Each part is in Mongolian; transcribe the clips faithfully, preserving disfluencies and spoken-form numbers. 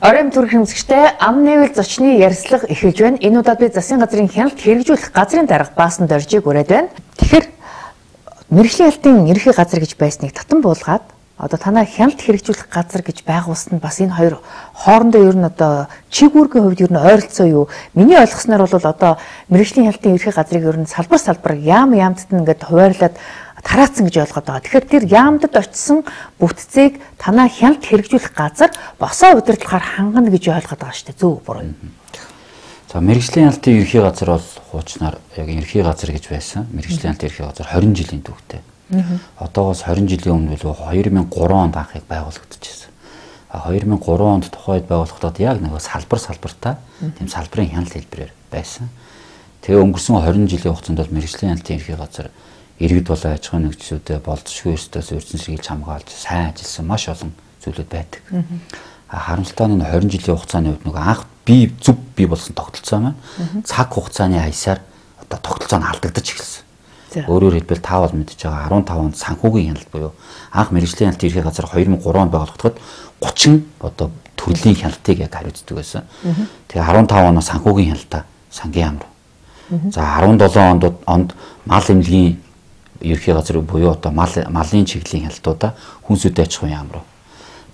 Оройн төрх хэмжигчтэй ам нэвэл зочны ярилцлага эхэлж байна. Энэ удаад би засгийн газрын хяналт хэрэгжүүлэх газрын дарга Баасан Доржийг ураад байна. Тэгэхээр мэргэжлийн хяналтын ерхий газар гэж байсныг татан буулгаад одоо танай хяналт хэрэгжүүлэх газар гэж байгуулсан бас энэ хоёр хоорондоо ер нь одоо чигүүргийн хувьд ер нь ойролцоо юу? Миний ойлгосноор бол одоо мэргэжлийн хяналтын ерхий газрыг ер нь салбар салбар яам яамдад ингээд хуваарлаад тараацсан гэж ойлгоод байгаа. Тэгэхээр тэр яамдад очисон бүтцийг танай хяналт хэрэгжүүлэх газар босоо удирдлагаар хангана гэж ойлгоод байгаа шүү дээ. Зөв буруу. За мэргэжлийн хяналтын ерхий газар бол хуучнаар яг ерхий газар гэж байсан. Мэргэжлийн хяналтын ерхий газар хорин жилийн түүхтэй. Одоогоос хорин жилийн өмнө бол хоёр мың и гурван онд анхыг байгуулагдчихсан. А хоёр мың и гурван онд тухайд байгуулагдаад яг нэг салбар салбартаа тийм салбарын хяналт хэлбэрээр байсан. Тэгээ өнгөрсөн хорин жилийн хугацаанд бол мэргэжлийн хяналтын ерхий газар иргэд болон аж ахуйн нэгжлүүдэд болцсохгүй ёстойс урьдчилан сэргийлж хамгаалж сайн ажилласан маш олон зүйлүүд байдаг. А харамсалтай нь хорин жилийн хугацааны үед нөгөө анх бий зүг бий болсон тогтолцоо маань цаг хугацааны аясаар одоо тогтолцоо нь алдагдаж эхэлсэн. Өөрөөр хэлбэл та бол мэдж байгаа арван тав онд санхүүгийн хяналт буюу анх мэргэжлийн хяналтын ерхий газар хоёр мың и гурван онд байгуулагдахад гучин одоо төрлийн хяналтыг яг хариуцдаг байсан. Тэгээ арван тав оноос санхүүгийн хяналтаа сангийн яам руу. За арван долоон онд онд мал эмнэлгийн ерхий газар буюу одоо мал малын чиглэлийн хяналтуудаа хүнсүдэд аж ахуйн яам руу.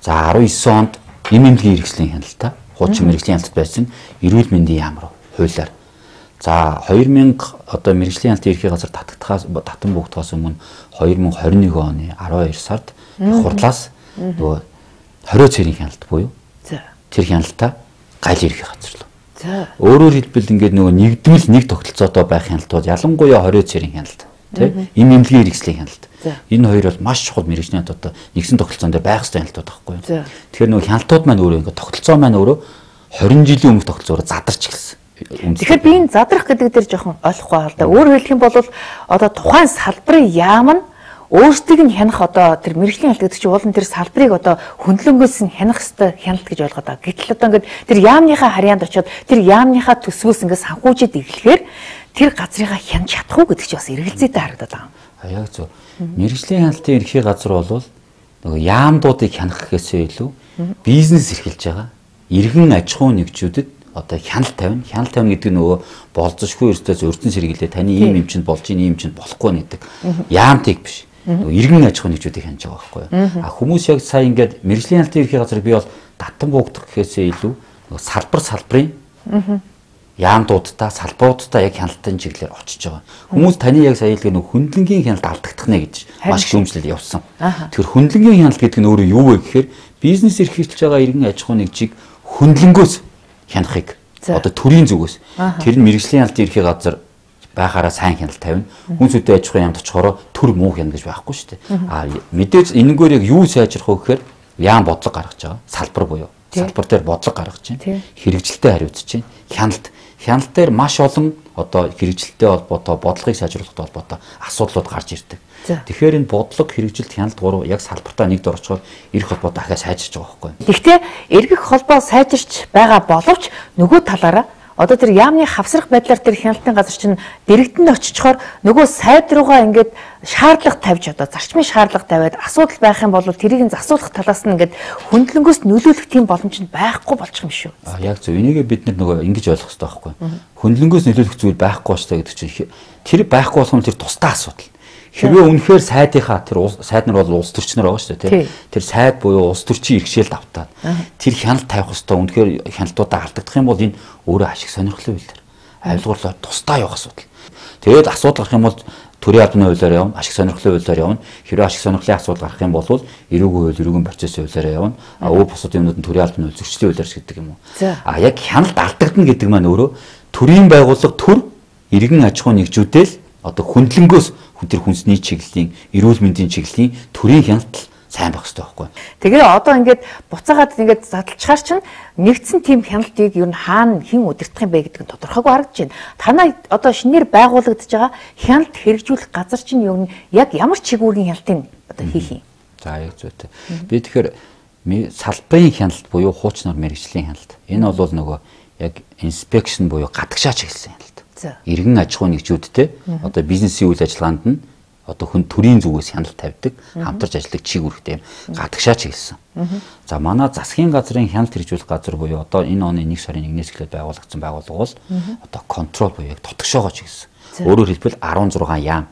За арван девять онд эм эмнэлгийн хэрэгслийн хяналтаа хуучин мэргэжлийн хяналт байсан эрүүл мэндийн яам руу хуулиар. За хоёр мянга одоо мэргэжлийн хяналтын ерхий газар татагдахаас татан бүгдхаас өмнө хоёр мың и хорин нэг оны арван хоёр сард хурлаас нөгөө хорио цэрийн хяналт буюу тэр хяналтаа гайл ерхий газар лөө. Өөрөөр хэлбэл ингээд нөгөө нэгдвэл нэг тогтолцоотой байх хяналтууд ялангуяа хорио цэрийн хяналт тийм эм эмнэлгийн хэрэгслийн хяналт. Энэ хоёр бол маш чухал мэргэжлийн одоо нэгсэн тогтолцоон дээр байх ёстой хяналтууд байхгүй юу. Тэгэхээр нөгөө хяналтууд маань өөрөө ингээд тогтолцоо маань өөрөө хорин жилийн өмнөх тогтолцоороо задарч эхэлсэн. Тэгэхээр би энэ задрах гэдэг дээр жоохон ойлгохгүй байна л да. Өөрөөр хэлэх юм бол одоо тухайн салбарын яам нь өөрсдийг нь хянах одоо тэр мэргэжлийн хяналт гэдэг чинь уулын тэр салбарыг одоо хөндлөнгөөс нь хянах ёстой хяналт гэж ойлгоод байгаа. Гэтэл одоо ингээд тэр яамныхаа харьяанд очиод тэр яамныхаа төсвөөс ингээд санхүүжид ирэхээр тэр газрыгаа хянаж чадах уу гэдэг чинь бас эргэлзээтэй харагдаад байгаа. А яг зөв. Мэргэжлийн хяналтын ерхий газар бол нөгөө яамдуудыг хянах гэхээсээ илүү бизнес эрхэлж байгаа иргэн аж ахуйн нэгжүүдэд одоо хяналт тавина. Хяналт тавина гэдэг нь нөгөө болцсохгүй ёстойс урьдчилан сэргийлээ таны ийм юм чинь болж ийн ийм чинь болохгүй гэдэг яамтыг биш. Нөгөө иргэн аж ахуйн нэгжүүдийг хянаж байгаа байхгүй юу. А хүмүүс яг сая ингээд мэргэжлийн хяналтын ерхий газар би бол татан буугдах гэхээсээ илүү нөгөө салбар салбарын яамдуудтай салбаруудтай яг хяналтын чиглэлээр очиж байгаа. Хүмүүс таны яг сая хэлгээ нөгөө хөндлөнгийн хяналт алдагдах нэ гэж маш их шүүмжлэл явуулсан. Тэгэхээр хөндлөнгийн хяналт гэдэг нь өөрөө юу вэ гэхээр бизнес эрхэлж байгаа иргэн аж ахуйн нэгжийг хөндлөнгөөс хянахыг одоо төрийн зүгээс тэр нь мэргэжлийн хяналтын ерхий газар байхаараа сайн хяналт тавина. Хүнсүдэд аж ахуйн яамд очихороо төр муу хянах гэж байхгүй шүү дээ. А мэдээж энэгээр яг юу сайжрах вэ гэхээр яам бодлого гаргаж байгаа. Салбар буюу салбар дээр бодлого гаргаж чинь хэрэгжилтэд хариуцж чинь хяналт хяналт дээр маш олон одоо хэрэгжилтэд холбоотой бодлогыг сайжруулахтай холбоотой асуудлууд гарч ирдэг. Тэгэхээр энэ бодлого хэрэгжилт хяналт гурав яг салбартаа нэгд орчхоор эрх холбоо дахиад сайжирч байгаа байхгүй. Гэхдээ эргэх холбоо сайжирч байгаа боловч нөгөө талаараа одоо тэр яамны хавсрах байдлаар тэр хяналтын газар чинь дэрэгдэнд очичхоор нөгөө сайд руугаа ингээд шаардлага тавьж одоо зарчмын шаардлага тавиад асуудал байх юм бол тэрийг нь засуулах талаас нь ингээд хөндлөнгөөс нөлөөлөх тийм боломж нь байхгүй болчих юм шүү. А яг зөв. Энийг бид нар нөгөө ингэж ойлгох хэрэгтэй байхгүй. Хөндлөнгөөс нөлөөлөх зүйл байхгүй болчтой гэдэг чинь тэр байхгүй болох нь тэр тусдаа асуудал. Хэрвээ үнэхээр сайдынхаа тэр сайд нар бол улс төрчнөр байгаа шүү дээ тийм. Тэр сайд буюу улс төрчийн иргэшээлд автаад тэр хяналт тавих хэвээр үнэхээр хяналтуудаа алдагдах юм бол энэ өөрөө ашиг сонирхлын үйлдэл. Айлгуурлаар тусдаа явах асуудал. Тэгээд асуудал гарах юм бол төрийн албаны хуулиар явна, ашиг сонирхлын хуулиар явна. Хэрвээ ашиг сонирхлын асуудал гарах юм бол эрүүгийн хууль, эрүүгийн процессын хуулиар явна. А өөр бусад юмнууд нь төрийн албаны хууль, зөрчлийн хуулиар гэдэг юм уу. А яг хяналт алдагдана гэдэг маань өөрөө төрийн байгууллага төр иргэн аж ахуйн нэгжүүдэл одоо хөндлөнгөөс тэр хүнсний чиглэлийн эрүүл мэндийн чиглэлийн төрийн хяналт сайн байх хэрэгтэй байхгүй. Тэгээ одоо ингээд буцаагаад ингээд задлчаар чинь нэгдсэн тийм хяналтыг юу н хаана хэн удирдах юм бэ гэдэг нь тодорхойгүй харагдаж байна. Танай одоо шинээр байгуулагдаж байгаа хяналт хэрэгжүүлэх газар чинь юу н яг ямар чигүүрийн хяналтыг одоо хийх юм. За яг зүйтэй. Би тэгэхээр салбарын хяналт буюу хуучнаар мэргэжлийн хяналт. Энэ бол нөгөө яг инспекшн буюу гадагшаач хэлсэн хяналт. Иргэн аж ахуйн нэгжүүдтэй одоо бизнесийн үйл ажиллагаанд нь одоо хүн төрийн зүгээс хяналт тавьдаг, хамтарч ажилладаг чиг үүрэгтэй гадагшаач хэлсэн. За манай засгийн газрын хяналт хэрэгжүүлэх газар буюу одоо энэ оны нэг сарын нэгнээс эхлээд байгуулагдсан байгууллага бол одоо контрол буюу яг дотгошоогоо чиглэсэн. Өөрөөр хэлбэл арван зургаан яам,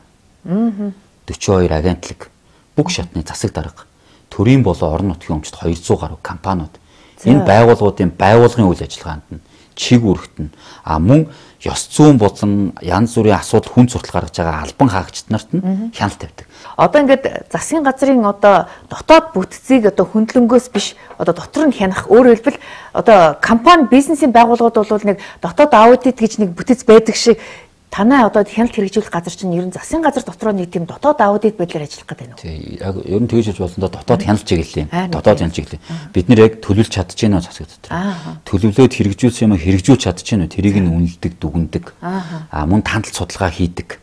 дөрвөн хоёр агентлаг, бүх шатны засаг дарга, төрийн болон орон нутгийн өмчт хоёр зуун гаруй компаниуд энэ байгууллагуудын байгууллагын үйл ажиллагаанд нь чиг үүрэгт нь а мөн ёс зүйн болон янз бүрийн асуудал хүн суртал гаргаж байгаа албан хаагчид нарт нь хяналт тавьдаг. Одоо ингээд засгийн газрын одоо дотоод бүтцийг одоо хөндлөнгөөс биш одоо дотор нь хянах, өөрөөр хэлбэл одоо компани бизнесийн байгууллагууд бол нэг дотоод аудит гэж нэг бүтэц байдаг шиг танай одоо хяналт хэрэгжүүлэх газар чинь ер нь засгийн газар дотроо нэг тийм дотоод аудит байдлаар ажиллах гэдэг нь. Тий, яг ер нь тэгж болж болсондоо дотоод хяналт чиглэлийн, дотоод хяналт чиглэлийн. Бид нэр яг төлөвлөж чадчихэв нөө засаг дотор. Төлөвлөөд хэрэгжүүлсэн юм хэрэгжүүлж чадчихэв нөө тэрийг нь үнэлдэг, дүгндэг. Аа мөн тандалт судалгаа хийдэг.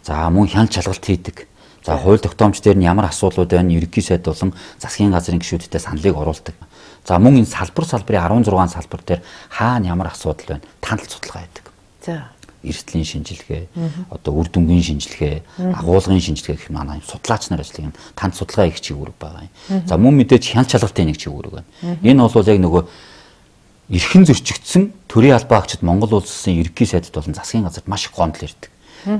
За мөн хяналт шалгалт хийдэг. За хууль тогтоомч дээр нь ямар асуудлууд байна, ерөнхий сайд болон засгийн газрын гишүүдтэй саналыг оруулдаг. За мөн энэ салбар салбарын арван зургаан салбар дээр хаана ямар асуудал байна, тандалт судалгаа хийдэг. За эрсдлийн шинжилгээ, одоо үр дүнгийн шинжилгээ, агуулгын шинжилгээ гэх манай судлаач нар ажилладаг юм. Танд судалгаа их чиг үүрэг байгаа юм. За мөн мэдээж хяналт шалгалтын нэг чиг үүрэг байна. Энэ бол яг нөгөө эрхэн зөрчигдсөн төрийн албан хаагчид Монгол улсын ерөнхий сайдд болон засгийн газарт маш их гомдол ирдэг.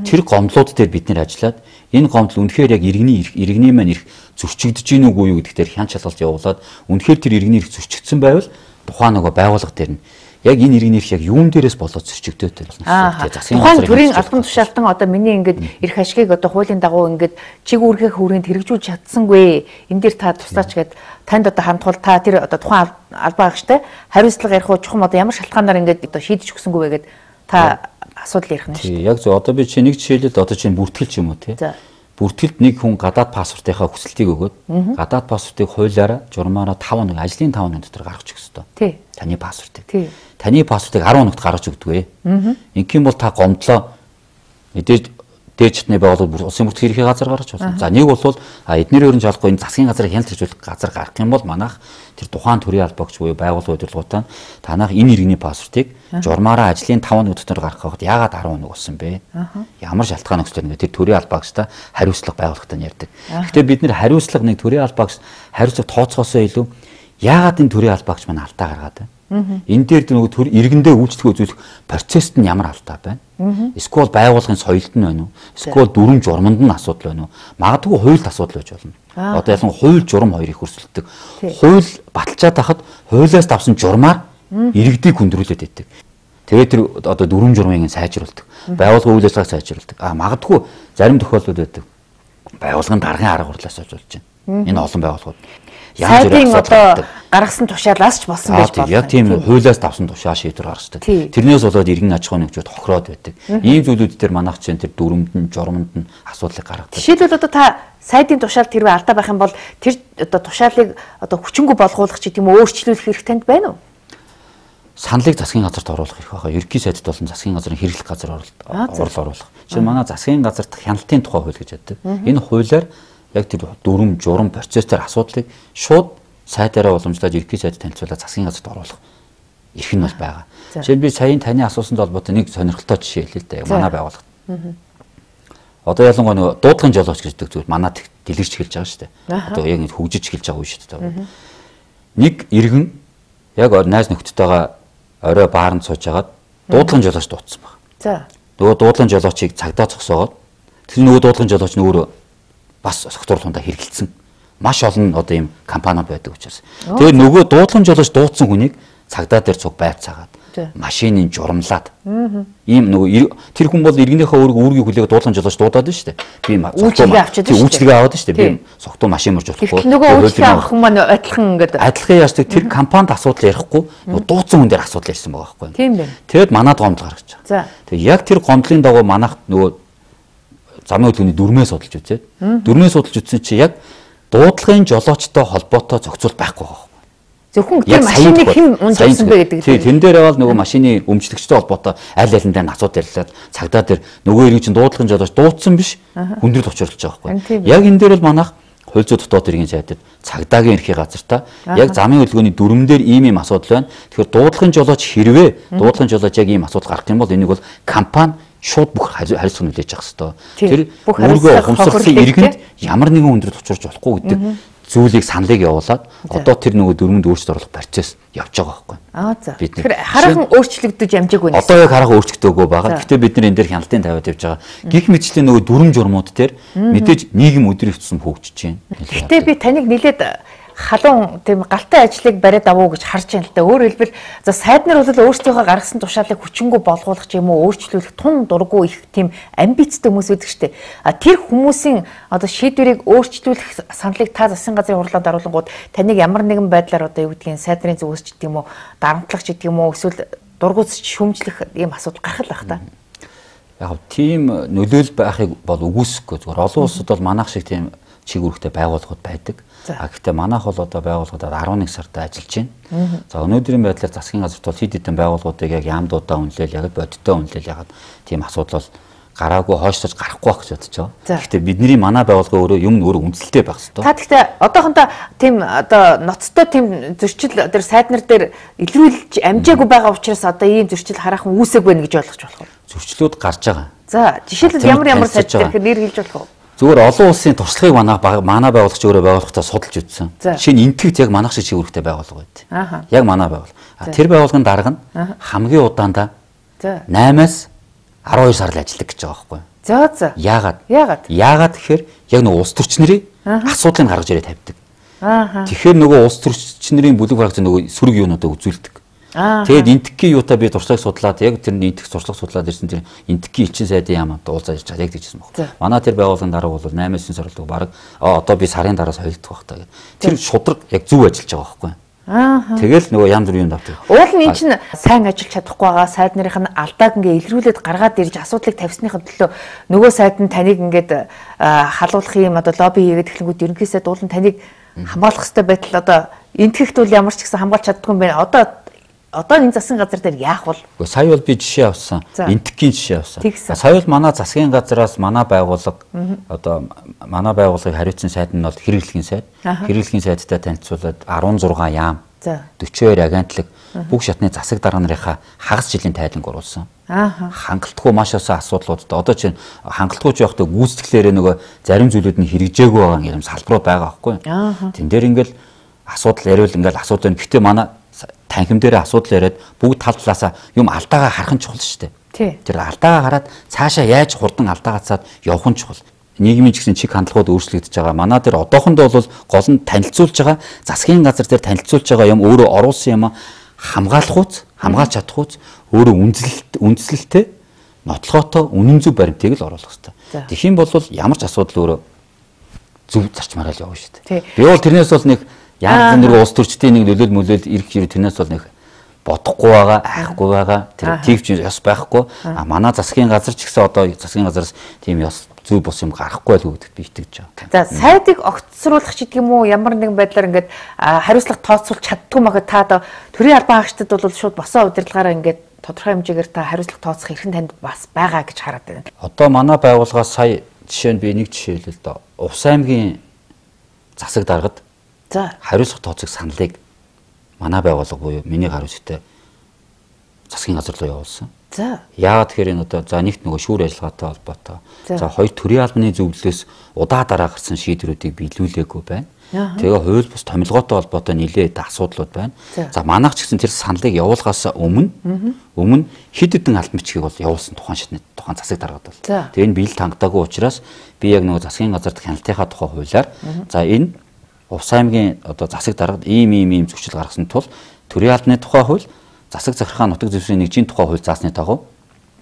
Тэр гомдлууд дээр бид нэр ажиллаад энэ гомдол үнэхээр яг иргэний иргэний маань их зөрчигдөж гин үгүй юу гэдэгтэр хяналт шалгалт явуулаад үнэхээр тэр иргэний их зөрчигдсөн байвал тухайн нөгөө байгууллага дээр нь яг энэ иргэний их яг юун дээрээс болоод зөрчигдөөтэй байна. Тухайн төрийн албан тушаалтан одоо миний ингээд эрх ашигыг одоо хуулийн дагуу ингээд чиг үүргээ хүрээнд хэрэгжүүлж чадсангүй. Энэ дээр та тусаач гээд танд одоо хамтгал та тэр одоо тухайн албан хаагчтай хариуцлага ярих уу чухам одоо ямар шалтгаанаар ингээд одоо шийдэж өгсөнгүй вэ гэд та асуудал ярих нь шүү дээ. Яг зөв. Одоо би чи нэг жишээлбэл одоо чи бүртгэл юм уу тий. Бүртгэлд нэг хүн гадаад паспортынхаа хүсэлтийг өгөөд гадаад паспортыг хуулиараа журмаараа таван хоног ажлын таван хоног дотор гаргаж өгөх ёстой. Тий. Таны паспортыг. Тий. Таны паспортыг арван хоногт гаргаж өгдөг вэ? Ингийн бол та гомдлоо мэдээж дээжтний байгууллага улсын бүртгэл ерхий газар гаргаж болно. За нэг бол эднэр өрн жолохгүй энэ засгийн газрын хяналт хэрэгжүүлэх газар гаргах юм бол манайх тэр тухайн төрийн албаагч буюу байгууллага удирдлагуудаа танах энэ иргэний паспортыг журмаараа ажлын таван хоног дотор гаргахад яагаад арван хоног болсон бэ? Ямар шалтгаан өгсөн бэ? Тэр төрийн албаагчтай хариуцлага байгууллагатай ярьдаг. Гэхдээ бид нэр хариуцлага нэг төрийн албаагч хариуцлага тооцоосоо илүү яагаад энэ төрийн албаагч маань алдаа гаргаад байна? Энэ дээр нөгөө төр иргэндээ үйлчлэх үзүүлэх процессд нь ямар алдаа байна? Эсвэл байгууллагын соёлд нь байна уу? Эсвэл дүрм журманд нь асуудал байна уу? Магадгүй хуульд асуудал байж болно. Одоо ялангуяа хууль журам хоёр их өрсөлддөг. Хууль баталчаад хахад хуулиас давсан журмаар иргэдийг хүндрүүлээд байдаг. Тэгээд тэр одоо дүрм журмыг сайжруулдаг. Байгууллагын үйл ажиллагааг сайжруулдаг. А магадгүй зарим тохиолдолд байдаг. Байгууллагын даргын арга барилаас болж байна. Энэ олон байгууллагууд сайдын одоо гаргасан тушаалаас ч болсон байж болно. Яг тийм хуулиас давсан тушаа шийдвэр гаргацдаг. Тэрнээс болоод иргэн аж ахуйн нэгжүүд хохироод байдаг. Ийм зүйлүүд дээр манайх чинь тэр дүрмэнд нь журамд нь асуудлыг гаргадаг. Жишээлбэл одоо та сайдын тушаалд хэрвээ алдаа байх юм бол тэр одоо тушаалыг одоо хүчингү болгуулах ч гэдэг юм өөрчлүүлэх хэрэг танд байна уу? Саналыг засгийн газарт оруулах хэрэг байгаа. Ерөнхий сайдд болон засгийн газрын хэрэглэх газар орол оруулах. Жишээ нь манай засгийн газарт хяналтын тухай хууль гэж яддаг. Энэ хуулиар яг тэр дүрм журам процессээр асуудлыг шууд сайдаараа уламжлаад ерөнхий сайд танилцуулаад засгийн газарт оруулах эрх нь бол байгаа. Жишээл би саяын таны асуусан холбоотой нэг сонирхолтой жишээ хэлээ л дээ. Манай байгууллагт. Одоо ялангуяа нөгөө дуудлагын жолооч гэдэг зүйл манад дэлгэрч эхэлж байгаа шүү дээ. Одоо яг ингэ хөгжиж эхэлж байгаа үе шүү дээ. Нэг иргэн яг найз нөхдөдтэйгээ орой баарнд сууж хагаад дуудлагын жолооч дуудсан баг. За. Нөгөө дуудлагын жолоочийг цагдаа зогсоогоод тэр нөгөө дуудлагын жолооч нь өөрөө бас согтуурлуундаа хэрэгэлсэн. Маш олон одоо ийм компаниуд байдаг учраас. Тэгээд нөгөө дуудлан жолооч дуудсан хүнийг цагдаа дээр цуг байцаагаад машиныг журамлаад. Ийм нөгөө тэр хүн бол иргэнийхээ өөрийн үүргийг хүлээгээд дуудлан жолооч дуудаад байна шүү дээ. Би үйлчлэгээ авчаад шүү дээ. Үйлчлэгээ аваад шүү дээ. Би согтуу машин мөрж болохгүй. Нөгөө үйлчлэгээ авах хүн маань адилхан ингээд адилхан яашдаг тэр компанид асуудал ярихгүй нөгөө дуудсан хүн дээр асуудал ярьсан байгаа байхгүй. Тийм байна. Тэгэд манад гомдол гаргаж байгаа. Тэгээд яг тэр гомдлын дагуу манайх нөгөө замын хөдөлгөөний дүрмээ судалж үзээд дүрмээ судалж үзсэн чи яг дуудлагын жолоочтой холбоотой зохицуул байхгүй байгаа. Зөвхөн тэр машиныг хэн унжуулсан бэ гэдэг. Тий, тэн дээр бол нөгөө машины өмчлөгчтэй холбоотой аль алиндаа асуудал ярьлаад цагдаа дээр нөгөө иргэн чинь дуудлагын жолооч дуудсан биш хүндрэл учруулж байгаа байхгүй. Яг энэ дээр бол манайх хууль зүйн дотоод иргэн сайдад цагдаагийн эрхий газартаа яг замын хөдөлгөөний дүрм дээр ийм ийм асуудал байна. Тэгэхээр дуудлагын жолооч хэрвээ дуудлагын жолооч яг ийм асуудал гарах юм бол энийг бол компани шууд бүх хариуцлага нөлөөлж явах хэрэгтэй. Тэр өөргөө ухамсарлын иргэнд ямар нэгэн хүндрэл учруулж болохгүй гэдэг зүйлийг саналыг явуулаад одоо тэр нөгөө дөрмөнд өөрчлөлт оруулах процесс явж байгаа байхгүй. Аа за. Тэгэхээр хараахан өөрчлөгдөж амжаагүй нэ. Одоо яг хараахан өөрчлөгдөөгүй байгаа. Гэхдээ бид нар энэ дээр хяналтын тавиад явж байгаа. Гэх мэтчлэн нөгөө дүрм журмууд дээр мэдээж нийгэм өдрийн тусам хөгжиж байна. Гэхдээ би таныг нэлээд халуун тийм галтай ажлыг бариад авуу гэж харж байна л да. Өөрөөр хэлбэл за сайд нар бол өөрсдийнхөө гаргасан тушаалыг хүчингү болгуулах ч юм уу өөрчлүүлэх тун дурггүй их тийм амбицтай хүмүүс байдаг шүү дээ. А тэр хүмүүсийн одоо шийдвэрийг өөрчлүүлэх саналыг та засгийн газрын хурлаар даруулангууд таныг ямар нэгэн байдлаар одоо юу гэдгийг сайд нарын зүгээс ч гэдэг юм уу дарамтлагч гэдэг юм уу эсвэл дургуутсч шүүмжлэх ийм асуудал гарах л байх та. Яг тийм нөлөөл байхыг бол үгүйсэхгүй зүгээр олон улсад бол манайх шиг тийм чиг үүрэгтэй байгууллагууд байдаг. А гэхдээ манайх бол одоо байгууллагуудад арван нэг сард ажиллаж байна. За өнөөдрийн байдлаар засгийн газарт бол хэд хэдэн байгууллагуудыг яг яамдуудаа үнэлээл яг бодиттой үнэлээл ягаад тийм асуудал бол гараагүй хойшлож гарахгүй байх гэж бодож байгаа. Гэхдээ бидний манай байгууллага өөрөө юм өөрөө үнэлэлтэй байх хэрэгтэй. Та гэхдээ одоохондоо тийм одоо ноцтой тийм зөрчил тэр сайд нар дээр илрүүлж амжаагүй байгаа учраас одоо ийм зөрчил хараахан үүсээг байна гэж ойлгож болох уу? Зөрчлүүд гарч байгаа. За жишээлбэл ямар ямар сайд дээр нэр хэлж болох уу? Зүгээр олон улсын туршлагыг манай манай байгууллагч өөрөө байгууллагатаа судалж үзсэн. Жишээ нь энтгэгт яг манайх шиг чиг үүрэгтэй байгууллага байд. Яг манай байгууллага. Тэр байгууллагын дарга нь хамгийн удаандаа наймаас арван хоёр сар л ажилладаг гэж байгаа байхгүй юу? За за. Яагаад? Яагаад? Яагаад тэгэхээр яг нөгөө улс төрчнэрийн асуудлыг гаргаж ирээд тавьдаг. Аа. Тэгэхээр нөгөө улс төрчнэрийн бүлэг барагч нөгөө сөрөг юунуудаа үзүүлдэг. Тэгээд энтгийн юутаа би туршлагыг судлаад яг тэр энтх туршлага судлаад ирсэн тэр энтгийн элчин сайдын яамд уулзаж ирж яг тэгжсэн баг. Манай тэр байгууллагын дарга бол наймаас сорилдог баг одоо би сарын дараа солигдох байх таа гэх. Тэр шудраг яг зөв ажиллаж байгаа байхгүй. Аа. Тэгэл нөгөө янз бүрийн юм давтаг. Уул нь эн чинь сайн ажиллаж чадахгүй байгаа сайд нарын алдааг ингээ илрүүлээд гаргаад ирж асуудлыг тавьсныхын төлөө нөгөө сайд нь таныг ингээд халуулах юм одоо лобби хийгээд эхлэнгүүт ерөнхий сайд уул нь таныг хамгаалах хэрэгтэй байтал одоо энтгэхт бол ямар ч гэсэн хамгаалж чаддгүй юм байна. Одоо Одоо энэ засгийн газар дээр яах бол? Гэхдээ сая бол би жишээ авсан. Энтгийн жишээ авсан. Сая бол манай засгийн газраас манай байгууллага одоо манай байгууллагыг хариуцсан сайд нь бол хэрэглэхийн сайд. Хэрэглэхийн сайдтай танилцуулаад арван зургаан яам, дөрвөн хоёр агентлаг бүх шатны засаг дарга нарынхаа хагас жилийн тайланг оруулсан. Хангалтгүй маш олон асуудлуудад одоо чинь хангалтгүй ч явахдаа гүйцэтгэлээрээ нөгөө зарим зүйлүүд нь хэрэгжээгүй байгаа юм салбарууд байгаа байхгүй. Тэн дээр ингээл асуудал яриул ингээл асуудал нь гэхдээ манай танхим дээр асуудал яриад бүгд тал талаасаа юм алдаагаа харах нь чухал шүү дээ. Тэр алдаагаа хараад цаашаа яаж хурдан алдаагаа цаад явах нь чухал. Нийгмийн ч гэсэн чиг хандлагууд өөрчлөгдөж байгаа. Манай дээр одоохондоо бол гол нь танилцуулж байгаа засгийн газар дээр танилцуулж байгаа юм өөрөө оруулсан юм хамгаалах уц, хамгаалж чадах уц өөрөө үндэслэлт үндэслэлтэй нотлохотой үнэн зөв баримтыг л оруулах хэрэгтэй. Тэгэх юм бол ямар ч асуудал өөрөө зөв зарчмаараа л явна шүү дээ. Би бол тэрнээс бол нэг янз бүрийн улс төрчдийн нэг нөлөөл мөлөөл ирэх хэрэг тэрнээс бол нэг бодохгүй байгаа, айхгүй байгаа. Тэр тийвч ёс байхгүй. А манай засгийн газар ч гэсэн одоо засгийн газараас тийм ёс зөв бос юм гарахгүй байл гэдэгт би итгэж байгаа. За сайдыг огцруулах ч гэдэг юм уу ямар нэгэн байдлаар ингээд хариуцлага тооцоолж чаддгүй махад та одоо төрийн албан хаагчдад бол шууд босоо удирдлагаараа ингээд тодорхой хэмжээгээр та хариуцлага тооцох эрхэм танд бас байгаа гэж хараад байна. Одоо манай байгууллагаас сая жишээ нь би нэг жишээ хэлээ л да. Увс аймгийн засаг даргад за хариуцлага тооцох саналыг манай байгууллага буюу миний гар үсгтэй засгийн газар руу явуулсан. За. Яагаад тэгэхээр энэ одоо за нэгт нөгөө шүүр ажиллагаатай холбоотой. За хоёр төрийн албаны зөвлөлөөс удаа дараа гарсан шийдвэрүүдийг биелүүлээгүй байна. Тэгээ хууль бус томилгоотой холбоотой нэлээд асуудлууд байна. За манайх ч гэсэн тэр саналыг явуулахаас өмнө өмнө хэд хэдэн албан бичгийг бол явуулсан тухайн шатны тухайн засаг даргад бол. Тэгээ энэ биелэл хангалтаагүй учраас би яг нөгөө засгийн газарт хяналтынхаа тухай хуулиар за энэ Увс аймгийн одоо засаг даргад ийм ийм ийм зөрчил гаргасан тул төрийн албаны тухай хууль, засаг захиргааны нутаг зөвшөөрлийн нэгжийн тухай хууль заасны дагуу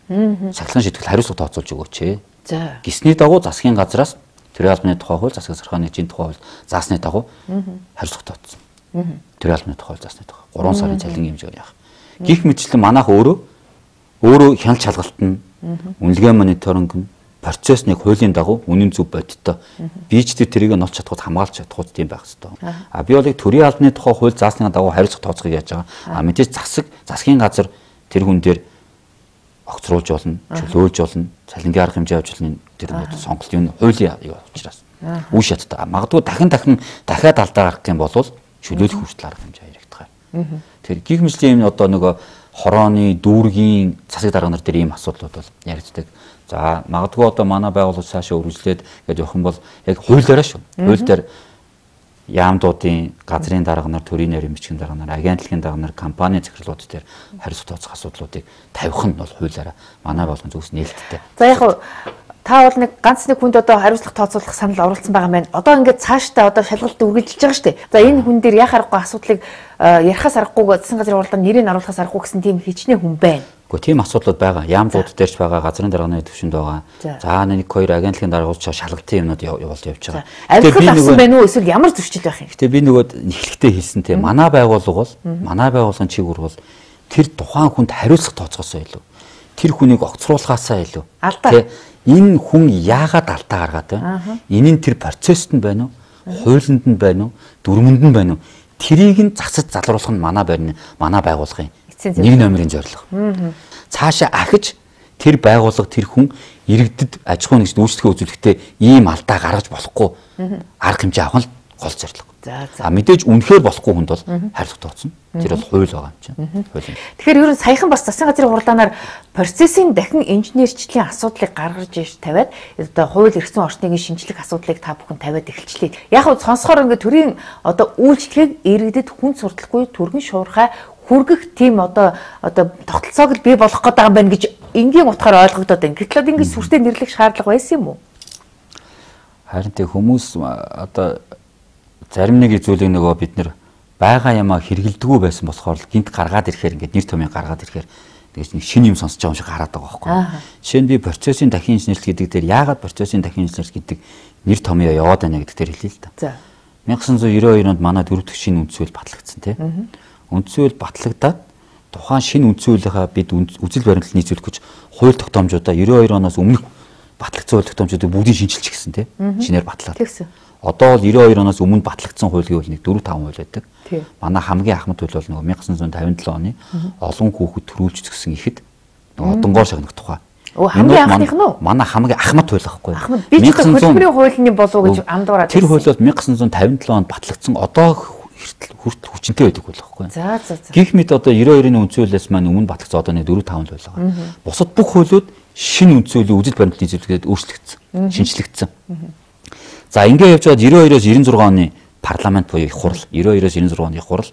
сахилгын шийтгэл хариуцлага тооцоолж өгөөч. За. Гисний дагуу засгийн газраас төрийн албаны тухай хууль, засаг захиргааны нэгжийн тухай хууль заасны дагуу хариуцлага тооцсон. Төрийн албаны тухай хууль заасны дагуу гурван сарын цалингийн хэмжээгээр яах. Гэх мэтчлэн манайх өөрөө өөрөө хяналт шалгалт нь үнэлгээ мониторинг нь процессныг хуулийн дагуу үнэн зөв бодиттой бийч тэр тэрийг нь олж чадхад хамгаалж чадхад тийм байх хэрэгтэй. А би бол яг төрийн албаны тухай хууль заасны дагуу хариуцлага тооцохыг яаж байгаа. А мэдээж засаг засгийн газар тэр хүн дээр огцруулж болно, чөлөөлж болно, цалингийн арга хэмжээ авч болно. Тэр сонголт юм хуулийн юу учраас үе шаттай. Магадгүй дахин дахин дахиад алдаа гарах юм бол чөлөөлөх хүртэл арга хэмжээ яригдах. Тэр гих мэтлийн юм одоо нөгөө хорооны дүүргийн засаг дарга нар дээр ийм асуудлууд бол яригддаг. За магадгүй одоо манай байгууллага цаашаа үргэлжлээд гэж явах юм бол яг хуулиараа шүү. Хууль дээр яамдуудын газрын дарга нар, төрийн нарийн бичгийн дарга нар, агентлагийн дарга нар, компани захирлууд дээр хариуцлага тооцох асуудлуудыг тавих нь бол хуулиараа манай болгон зүгс нээлттэй. За яг та бол нэг ганц нэг хүнд одоо хариуцлага тооцоолох санал оруулсан байгаа маань. Одоо ингээд цаашдаа одоо шалгалт үргэлжилж байгаа шүү дээ. За энэ хүн дээр яхаа аргагүй асуудлыг ярихаас аргагүй засгийн газрын уралдаанд нэрийг оруулахаас аргагүй гэсэн тийм хичнээн хүн байна. Гэхдээ тийм асуудлууд байгаа. Яамдууд дээрч байгаа, газрын дарганы төвшөнд байгаа. За нэг хоёр агентлагийн даргууд ч шалгалтын юмнууд явуулж явж байгаа. Авилгал авсан байна уу эсвэл ямар зөрчил байх юм? Гэхдээ би нөгөө эхлэхдээ хэлсэн тийм манай байгууллага бол манай байгууллагын чиглэл бол тэр тухайн хүнд хариуцлага тооцоосоо илүү. Тэр хүнийг огцруулахаасаа илүү. Алдаа. Энэ хүн яагаад алдаа гаргаад байна? Энэ нь тэр процессд нь байна уу? Хуулинд нь байна уу? Дүрмэнд нь байна уу? Тэрийг нь засаж залруулах нь манай байрны манай байгууллагын нэг номерын зорилго. Цаашаа ахиж тэр байгууллага тэр хүн иргэдэд аж ахуйн нэгж үйлчлэгээ үзүүлэхдээ ийм алдаа гаргаж болохгүй арга хэмжээ авах нь гол зорилго. За мэдээж үнэхээр болохгүй хүнд бол хариуцлага тооцно. Тэр бол хууль байгаа юм чинь. Хууль. Тэгэхээр ер нь саяхан бас засгийн газрын хурлаанаар процессын дахин инженерчлэлийн асуудлыг гаргаж иж тавиад одоо хууль эрхцэн орчныг шинжлэх асуудлыг та бүхэн тавиад эхэлчлээ. Яг нь сонсохоор ингээд төрийн одоо үйлчлэгийг иргэдэд хүн сурталгүй түргэн шуурхай хүргэх тийм одоо одоо тогтолцоог л бий болгох гэдэг юм байна гэж энгийн утгаар ойлгогдоод байна. Гэтэл ингэж сүртэй нэрлэх шаардлага байсан юм уу? Харин тэг хүмүүс одоо зарим нэг зүйлийг нөгөө бид нэр байгаа юмаа хэрэгэлдэггүй байсан болохоор л гинт гаргаад ирэхээр ингээд нэр томьёо гаргаад ирэхээр тэгэж нэг шинэ юм сонсож байгаа юм шиг хараад байгаа байхгүй. Жишээ нь би процессын дахин инженерчлэл гэдэг дээр яагаад процессын дахин инженерчлэл гэдэг нэр томьёо яваад байна гэдэг дээр хэлье л да. За. 천ix девяносто two онд манай дөрөв дэх шинэ үндсүүл батлагдсан тийм. Үндсүүл батлагдаад тухайн шинэ үндсүүлийнхаа бид үзэл баримтлал нийцүүлэх гэж хууль тогтоомжуудаа девяносто two оноос өмнөх батлагдсан хууль тогтоомжуудыг бүгдийг шинжилж гисэн тийм. Шинээр батлаад. Тэгсэн. Одоо бол девяносто two оноос өмнө батлагдсан хууль гэвэл нэг four five хууль байдаг. Манай хамгийн ахмад хууль бол нөгөө 천ix fifty-seven оны олон хүүхэд төрүүлж зөксөн ихэд нөгөө одонгоор шагнах тухай. Оо хамгийн анхных нь уу? Манай хамгийн ахмад хууль байхгүй. Ахмад би ч хөдөлмөрийн хуулийн болов уу гэж андуураад. Тэр хууль бол 천ix fifty-seven онд батлагдсан одоо хүртэл хүчинтэй байдаг байхгүй. За за за. Гэх мэт одоо девяносто two-ийн үндсүүлээс маань өмнө батлагдсан одоо нэг four five хууль байгаа. Бусад бүх хуулиуд шинэ үндсүүлийн үзэл баримтлалын нийцүүлгээд өөрчлөгдсөн, шинжлэгдсэн. За ингээд явж байгаа девяносто two-оос ninety-six оны парламент буюу их хурал, девяносто two-оос ninety-six оны их хурал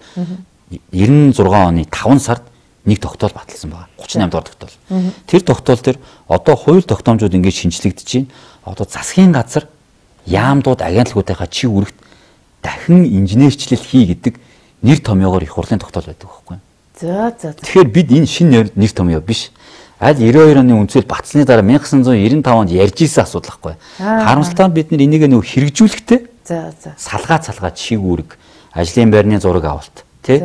ninety-six оны five сард нэг тогтоол баталсан байгаа. thirty-eight дугаар тогтоол. Тэр тогтоол дээр одоо хууль тогтоомжууд ингээд шинжлэгдэж байна. Одоо засгийн газар яамдууд агентлагуудынхаа чиг үүрэгт дахин инженерчлэл хий гэдэг нэр томьёогоор их хурлын тогтоол байдаг байхгүй. За за. Тэгэхээр бид энэ шинэ нэр томьёо биш. Аль ninety-two оны үндсэл батсны дараа 천ix ninety-five онд ярьж исэн асуудал байхгүй. Харамсалтай нь бид нар энийг нэг хэрэгжүүлэхдээ за за. Салгаа салгаа чиг үүрэг, ажлын байрны зураг авалт, тий?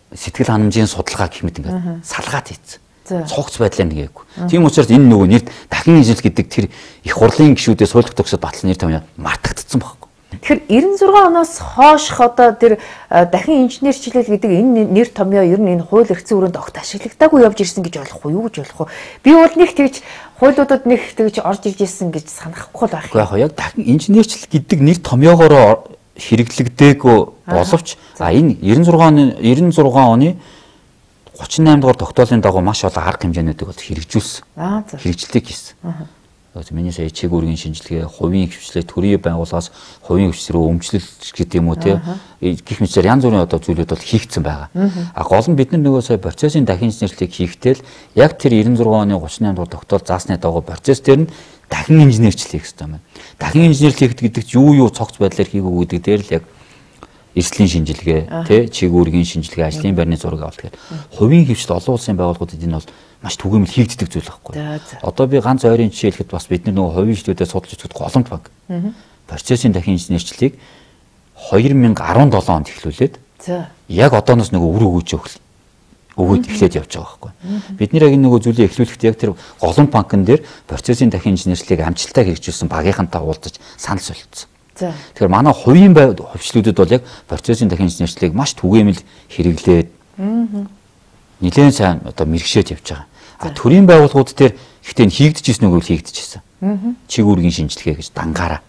Сэтгэл ханамжийн судалгаа гэх мэт ингээд салгаад хийцэн. Цогц байдлаар нэгээгүй. Тийм учраас энэ нөгөө нэр дахин инженерч гэдэг тэр их хурлын гишүүдээс хууль тогтоогчдод батлсан нэр томьёо мартагдсан байхгүй. Тэгэхээр ninety-six оноос хойшх одоо тэр дахин инженерчлэл гэдэг энэ нэр томьёо ер нь энэ хууль эрхцэн өрөөнд огт ашиглагдаагүй явж ирсэн гэж болох уу юу гэж болох уу? Би бол нэг тэгж хуулиудад нэг тэгж орж ирж ирсэн гэж санахгүй л байх. Яг яг дахин инженерчлэл гэдэг нэр томьёогоор хэрэглэгдээгүй боловч а энэ ninety-six оны ninety-six оны thirty-eight дугаар тогтоолын дагуу маш олон арга хэмжээнүүдийг бол хэрэгжүүлсэн. Хэрэгжлийг хийсэн. Миний сая чиг үүргийн шинжилгээ, хувийн хвшлээ, төрийн байгууллагаас хувийн хвш рүү өмчлөлт гэдэг юм уу тий. Гэх мэт янз бүрийн одоо зүйлүүд бол хийгдсэн байгаа. А гол нь бид нар нөгөө сая процессын дахин инженерлийг хийхдээ л яг тэр ninety-six оны thirty-eight дугаар тогтоол заасны дагуу процесс дээр нь дахин инженерчлэл хийх хэрэгтэй байна. Дахин инженерчлэл гэдэг чинь юу юу цогц байдлаар хийгүү гэдэг дээр л яг эрсдлийн шинжилгээ, тий, чиг үүргийн шинжилгээ, ажлын байрны зураг авалт гэдэг. Хувийн хвшил олон улсын байгууллагуудад энэ бол маш түгээмэл хийгддэг зүйл байхгүй. Одоо би ганц ойрын жишээ хэлэхэд бас бид нар нөгөө хувийн хвшлүүдээ судалж үзэхэд Голомт банк процессын дахин инженерчлэлийг twenty seventeen онд эхлүүлээд яг одооноос нөгөө үр өгөөж өгөх өгөөд эхлээд явж байгаа байхгүй. Бид нэр яг нөгөө зүйлийг эхлүүлэхдээ яг тэр Голомт банкн дээр процессын дахин инженерчлэлийг амжилттай хэрэгжүүлсэн багийнхантай уулзаж санал солилцсон. Тэгэхээр манай хувийн хвшлүүдэд бол яг процессын дахин инженерчлэлийг маш түгээмэл хэрэглээд нэлээд сайн одоо мэрэгшээд явж байгаа. А төрийн байгууллагууд дээр ихтэй хийгдэж ирсэн үгүй хийгдэж ирсэн. Чиг үүргийн шинжилгээ гэж дангаараа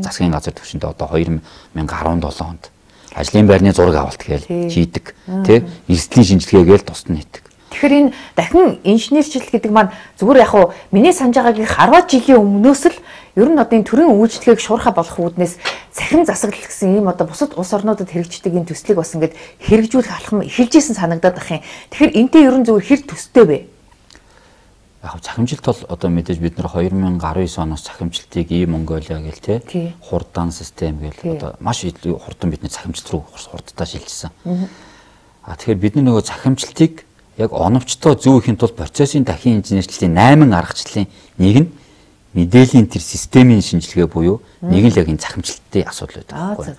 засгийн газар төвшөндөө одоо twenty seventeen онд ажлын байрны зураг авалт гээл хийдэг. Тэ эрсдлийн шинжилгээ гээл тусад нь хийдэг. Тэгэхээр энэ дахин инженерчлэл гэдэг маань зүгээр яг хуу миний санаж байгаагийн харваад жилийн өмнөөс л ер нь одоо энэ төрийн үйлчлэгийг шуурхай болгох үүднээс цахим засаглал гэсэн ийм одоо бусад улс орнуудад хэрэгждэг энэ төслийг бас ингээд хэрэгжүүлэх алхам эхэлжсэн санагдаад ах юм. Тэгэхээр энтэй ер нь зүгээр хэр төстэй вэ? Яг цахимжилт бол одоо мэдээж бид нэр две тысячи десять оноос цахимжилтыг и Монголиа гэл те хурдан систем гэл одоо маш хурдан бидний цахимжилт руу хурдтай шилжсэн. А тэгэхээр бидний нөгөө цахимжилтыг яг оновчтой зөв ихийн тулд процессын дахин инженерчлэлийн восемь аргачлалын нэг нь мэдээллийн тэр системийн шинжилгээ буюу нэг нь яг энэ цахимжилтын асуудал байдаг байхгүй.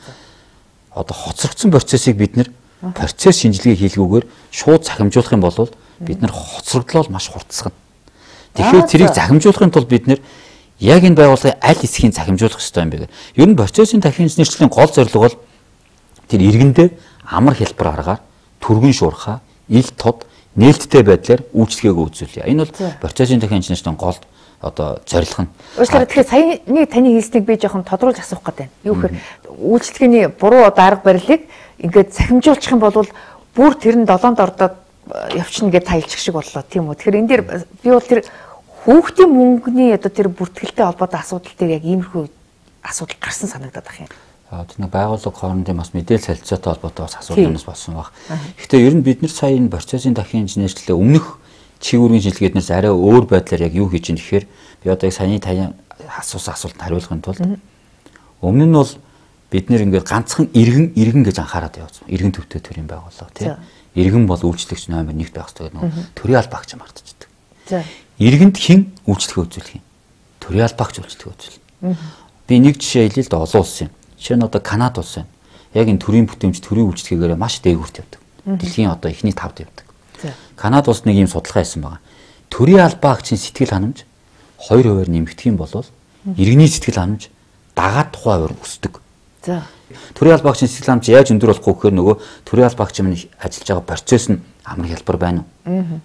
Одоо хоцрогдсон процессыг бид нэр процесс шинжилгээ хийлгүүгээр шууд цахимжуулах юм бол бид нар хоцрогдлол маш хурцсагна. Тэгэхээр тэрийг захимжуулахын тулд бид нэр яг энэ байгууллагын аль хэсгийг захимжуулах ёстой юм бэ? Ер нь процессын дахин инженерчлэлийн гол зорилго бол тэр иргэндээ амар хэлбэр аргаар түргэн шуурхаа, ил тод, нээлттэй байдлаар үйлчлэгээг үзүүлье. Энэ бол процессын дахин инженерчлэлийн гол одоо зорилго нь. Өөрөөр тэгэхээр саяны таны хэлснийг би жоохон тодруулж асуух гэдэг байна. Юу гэхээр үйлчлэгээний буруу дарга барилыг ингээд захимжуулчих юм бол бүр тэр нь долоонд ордоод явчихна гэж тайлчих шиг боллоо тийм үү. Тэгэхээр энэ дээр би бол тэр хүүхдийн мөнгөний одоо тэр бүртгэлтэй холбоотой асуудал дээр яг иймэрхүү асуудал гарсан санагдаад байна юм. Аа тэр нэг байгууллага хоорондын бас мэдээлэл солилцоотой холбоотой бас асуудал болсон баг. Гэхдээ ер нь бид нар сая энэ процессын дахин инженерчлэлээ өмнөх чигүүргийн шинжилгээднээс арай өөр байдлаар яг юу хийж ийн гэхээр би одоо яг саяны таны асуусан асуултанд хариулахын тулд өмнө нь бол бид нэр ингээд ганцхан иргэн иргэн гэж анхаарал явуулсан. Иргэн төвтэй төрийн байгууллага тийм. Иргэн бол үйлчлэгч номер один байх хэрэгтэй гэдэг төрийн албаагч мартчихдаг. За. Иргэнд хэн үйлчлэгээ үзүүлэх юм? Төрийн албаагч үйлчлэгээ үзүүлнэ. Би нэг жишээ хэлье л да олон улс юм. Жишээ нь одоо Канада улс байна. Яг энэ төрийн бүтээмж төрийн үйлчлэгээр маш дээгүүрт явдаг. Дэлхийн одоо эхний тавд явдаг. Канада улс нэг юм судалгаа хийсэн байгаа. Төрийн албаагчийн сэтгэл ханамж хоёр хувиар нэмэгдэх юм бол иргэний сэтгэл ханамж дагаад тухайн хувиар өсдөг. За. Төрийн албаагчийн сэтгэл ханамж яаж өндөр болох вэ гэхээр нөгөө төрийн албаагч минь ажиллаж байгаа процесс нь амар хялбар байна уу?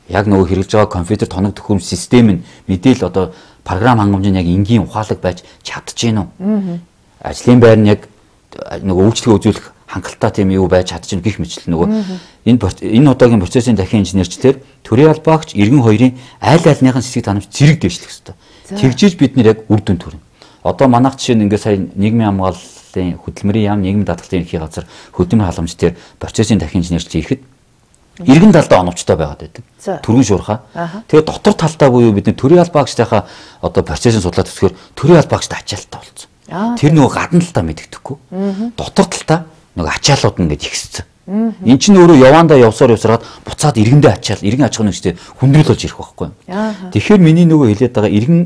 Яг нөгөө хэрэглэж байгаа компьютер тоног төхөөрөмж систем нь мэдээлэл одоо програм хангамж нь яг энгийн ухаалаг байж чадчихэв үү? Ажлын байр нь яг нөгөө үйлчлэгээ үзүүлэх хангалттай тийм юу байж чадчихна гэх мэтлэл нөгөө энэ энэ удаагийн процессын дахин инженерчлэлээр төрийн албаагч иргэн хоёрын аль альныхын сэтгэл ханамж зэрэг дэвшлэх ёстой. Тэгжиж бид нэр яг үр дүн төрнө. Одоо манайх жишээ нь ингээд сая нийгмийн хамгааллын хөдөлмөрийн яам нийгмийн даатгалын ерхий газар хөдөлмөр халамж дээр процессын дахин инженерчлэл хийхэд иргэн талдаа оновчтой байгаад байдаг. Түргэн шуурхаа. Тэгээ дотор талдаа буюу бид нэр төрийн албаагчтайхаа одоо процессын судлаад төсгөр төрийн албаагчтай ачаалттай болцсон. Тэр нөгөө гадна талтаа мэддэхгүй. Дотор талтаа нөгөө ачаалууд нь ингэж ихссэн. Эн чинь өөрөө явандаа явсаар явсараад буцаад иргэндээ ачаал, иргэн аж ахуйн нэгжтэй хүндрэл болж ирэх байхгүй юм. Тэгэхээр миний нөгөө хэлээд байгаа иргэн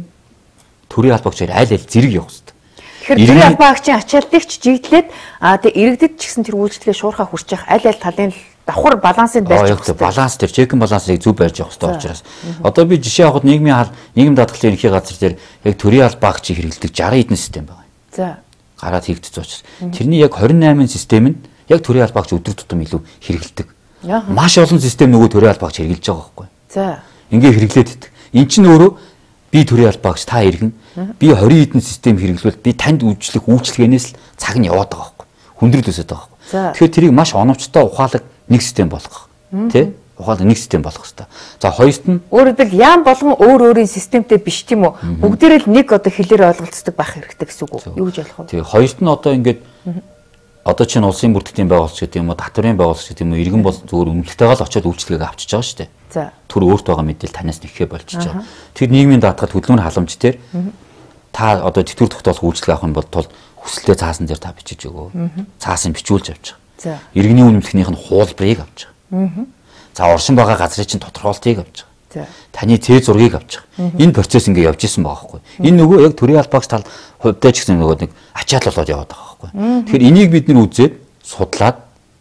төрийн албаагчаар аль аль зэрэг явах хэрэгтэй. Тэгэхээр төрийн албаагчийн ачаалтыг ч жигдлээд аа тэгээ иргэдэд ч гэсэн тэр үйлчлэгээ шуурхаа хүрч явах аль аль талын давхар балансыг барьж явах хэрэгтэй. Баланс тэр чекэн балансыг зөв барьж явах хэрэгтэй учраас. Одоо би жишээ авахад нийгмийн хал нийгэм даатгалын ерхий газар дээр яг төрийн албаагчийг хэрэглэдэг сixty хэдэн систем байна. За. Гараад хийгдсэн учраас. Тэрний яг twenty-eight систем нь яг төрийн албаагч өдөр тутам илүү хэрэглэдэг. Маш олон систем нөгөө төрийн албаагч хэрэглэж байгаа байхгүй. За. Ингээ хэрэглээд идэг. Эн чинь өөрөө би төрийн албаагч та иргэн би twenty хэдэн систем хэрэглэвэл би танд үйлчлэх үйлчлэгээнээс л цаг нь яваад байгаа байхгүй. Хүндрэл өсөд байгаа байхгүй. Тэгэхээр тэрийг маш оновчтой ухаалаг нэг систем болгох. Тэ? Ухаалаг нэг систем болгох хэрэгтэй. За хоёрт нь өөрөөр хэлбэл яам болгон өөр өөрийн системтэй биш тийм үү? Бүгдээрээ л нэг одоо хэлээр ойлголцдог байх хэрэгтэй гэсэн үг үү? Юу гэж болох вэ? Тэгээ хоёрт нь одоо ингээд одоо чинь улсын бүртгэлийн байгууллагч гэдэг юм уу, татврын байгууллагч гэдэг юм уу, иргэн бол зөвхөн үнэлтэйгээ л очиод үйлчлэгийг авчиж байгаа шүү дээ. За. Түр өөрт байгаа мэдээлэл танаас нэхээ болчихж байгаа. Тэр нийгмийн даатгал хөдөлмөр халамж дээр та одоо тэтгэвэр тогтоох үйлчлэг авах юм бол тул хүсэлтээ цаасан дээр та бичиж өгөө. Цаасан бичүүлж авч байгаа. За. Иргэний үнэмлэхнийх нь хуулбарыг авч байгаа. За оршин байгаа газрын чинь тодорхойлтыг авч байгаа. Таны цээ зургийг авч байгаа. Энэ процесс ингээ явж исэн байгаа байхгүй. Энэ нөгөө яг төрийн албаагч тал хувьдаа ч гэсэн нөгөө нэг ачаал болоод яваад байгаа байхгүй. Тэгэхээр энийг бид нэр үзээд судлаад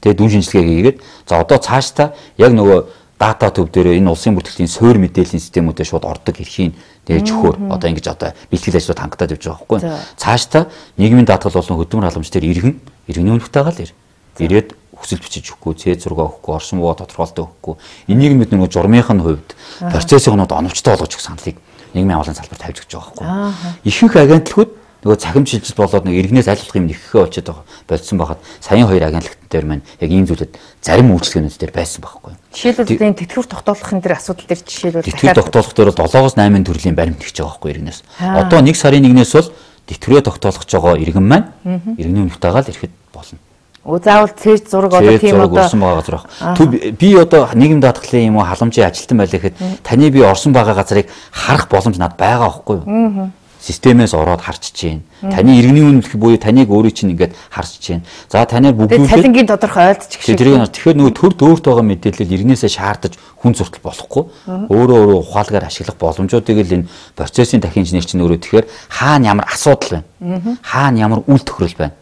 тэгээ дүн шинжилгээ хийгээд за одоо цаашдаа яг нөгөө дата төв дээр энэ улсын бүртгэлийн суурь мэдээллийн системүүдэд шууд ордог эрхийн дээж өгөхөөр одоо ингэж одоо бэлтгэл ажлууд хангалттай явж байгаа байхгүй. Цаашдаа нийгмийн даатгал болон хөдөлмөр халамж дээр иргэн иргэний үнэлтэйгээ л ир. Ирээд хүсэл бичиж өгөхгүй, цээ зураг өгөхгүй, оршин буу тодорхойлолт өгөхгүй. Энийг бид нөгөө журмынхын хувьд процессын хоноод оновчтой болгож өгөх саналыг нийгмийн авалын салбарт тавьж өгч байгаа байхгүй. Ихэнх агентлагууд нөгөө цахим шилжилт болоод нэг иргэнээс аль болох юм нэххээ очиод байгаа болцсон байхад саяын хоёр агентлагт дээр маань яг ийм зүйлүүд зарим үйлчлэгнүүд дээр байсан байхгүй. Жишээлбэл энэ тэтгэвэр тогтоолохын дээр асуудал дээр жишээлбэл тэтгэвэр тогтоолох дээр долоогоос найман төрлийн баримт тэгж байгаа байхгүй иргэнээс. Одоо нэг сарын нэгнээс бол тэтгэврээ тогтоолох гэж байгаа иргэн маань иргэний үнэтэйгээ л ирэхэд болно. Өө заавал цээж зураг одоо тийм одоо орсон байгаа газар баг. Би одоо нийгэм даатгалын юм уу халамжийн ажилтан байлаа гэхэд таны би орсон байгаа газрыг харах боломж надад байгаа байхгүй юу? Системээс ороод харч чинь. Таны иргэний үнэлэх буюу таныг өөрөө чинь ингээд харч чинь. За танаар бүгдүүлээд цалингийн тодорхой ойлдчих шиг. Тэгэхээр нөгөө төр дөөрт байгаа мэдээлэл иргэнээсээ шаардаж хүн зуртал болохгүй. Өөрөө өөрөө ухаалгаар ашиглах боломжуудыг л энэ процессын дахин инженер чинь өөрөө тэгэхээр хаана ямар асуудал байна? Хаана ямар үйл тохирол байна?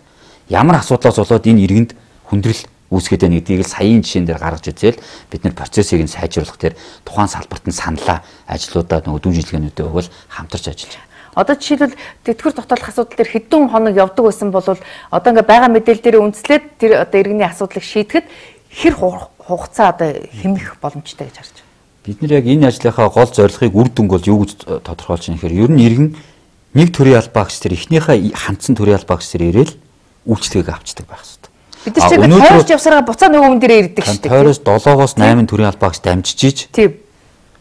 Ямар асуудлаас болоод энэ иргэнд хүндрэл үүсгээд байна гэдгийг л саяын жишээн дээр гаргаж үзээл бид нэр процессыг нь сайжруулах дээр тухайн салбарт нь саналаа ажлуудаа нөгөө дүү жилгэнүүдээ өгвөл хамтарч ажиллаж байна. Одоо жишээлбэл тэтгэвэр тогтоолох асуудал дээр хэдэн хоног явдаг байсан бол одоо ингээ байгаа мэдээлэл дээр үндэслээд тэр одоо иргэний асуудлыг шийдэхэд хэр хугацаа одоо хэмнэх боломжтой гэж харж байна. Бид нэр яг энэ ажлынхаа гол зорилгыг үр дүнг бол юу гэж тодорхойлж байгаа нэхээр ер нь иргэн нэг төрлийн албаагч тэр эхнийхээ хандсан төрлийн албаагч тэр ирээл үйлчлэгийг авчдаг байх хэрэгтэй. Бид нар чинь тойрч явсараа буцаа нөгөө хүн дээр ирдэг шүү дээ. Тойроос долоогоос найман төрлийн албаагч дамжиж тийм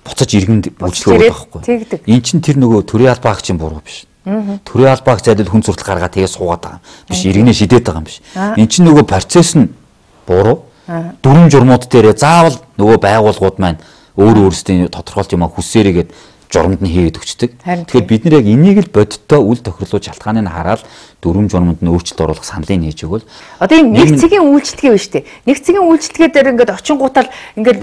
буцаж иргэнд үйлчлэгээ байхгүй. Эн чинь тэр нөгөө төрийн албаагчийн буруу биш. Төрийн албаагч зайдад хүн зуртал гаргаад тэгээ суугаад байгаа биш. Иргэнээ шидээд байгаа юм биш. Эн чинь нөгөө процесс нь буруу. Дүрм журмууд дээр заавал нөгөө байгууллагууд маань өөр өөрсдийн тодорхойлт юм хүссээрийгээд журамд нь хийгээд өгчдөг. Тэгэхээр бид нэр яг энийг л бодиттой үйл тохирлуу шалтгааныг хараад дүрм журамд нь өөрчлөлт оруулах саналыг нээж өгвөл одоо энэ нэг цэгийн үйлчлэгээ биш үү? Нэг цэгийн үйлчлэгээ дээр ингээд очингуудаа ингээд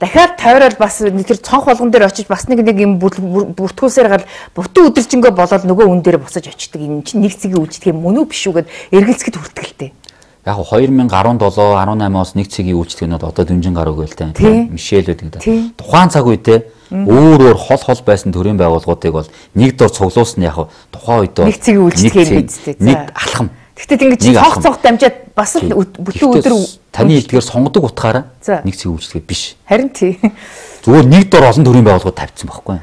дахиад тойрол бас тэр цонх болгон дээр очиж бас нэг нэг юм бүртгүүлсээр гал бутуу өдөржингөө болоод нөгөө хүн дээр буцаж очдөг. Энэ чинь нэг цэгийн үйлчлэгээ мөн үү биш үү гэд эргэлзэхэд хүртгэлтэй. Яг хоёр мянга арван долоо арван наймоос нэг цэгийн үйлчлэгнүүд одоо дэмжин гараг байлтай. Мишелүүд гэдэг. Тухайн цаг үедээ өөр өөр хол хол байсан төрийн байгууллагуудыг бол нэг дор цуглуулсан яг тухайн үед нэг цэгийн үйлчлэгээ хийдэг. Нэг алхам. Гэхдээ ингэж цонх цонх дамжаад бас л бүтэн өдөр таны эдгээр сонгодог утгаараа нэг цэгийн үйлчлэгээ биш. Харин тий. Зүгээр нэг дор олон төрийн байгууллагууд тавьчихсан байхгүй.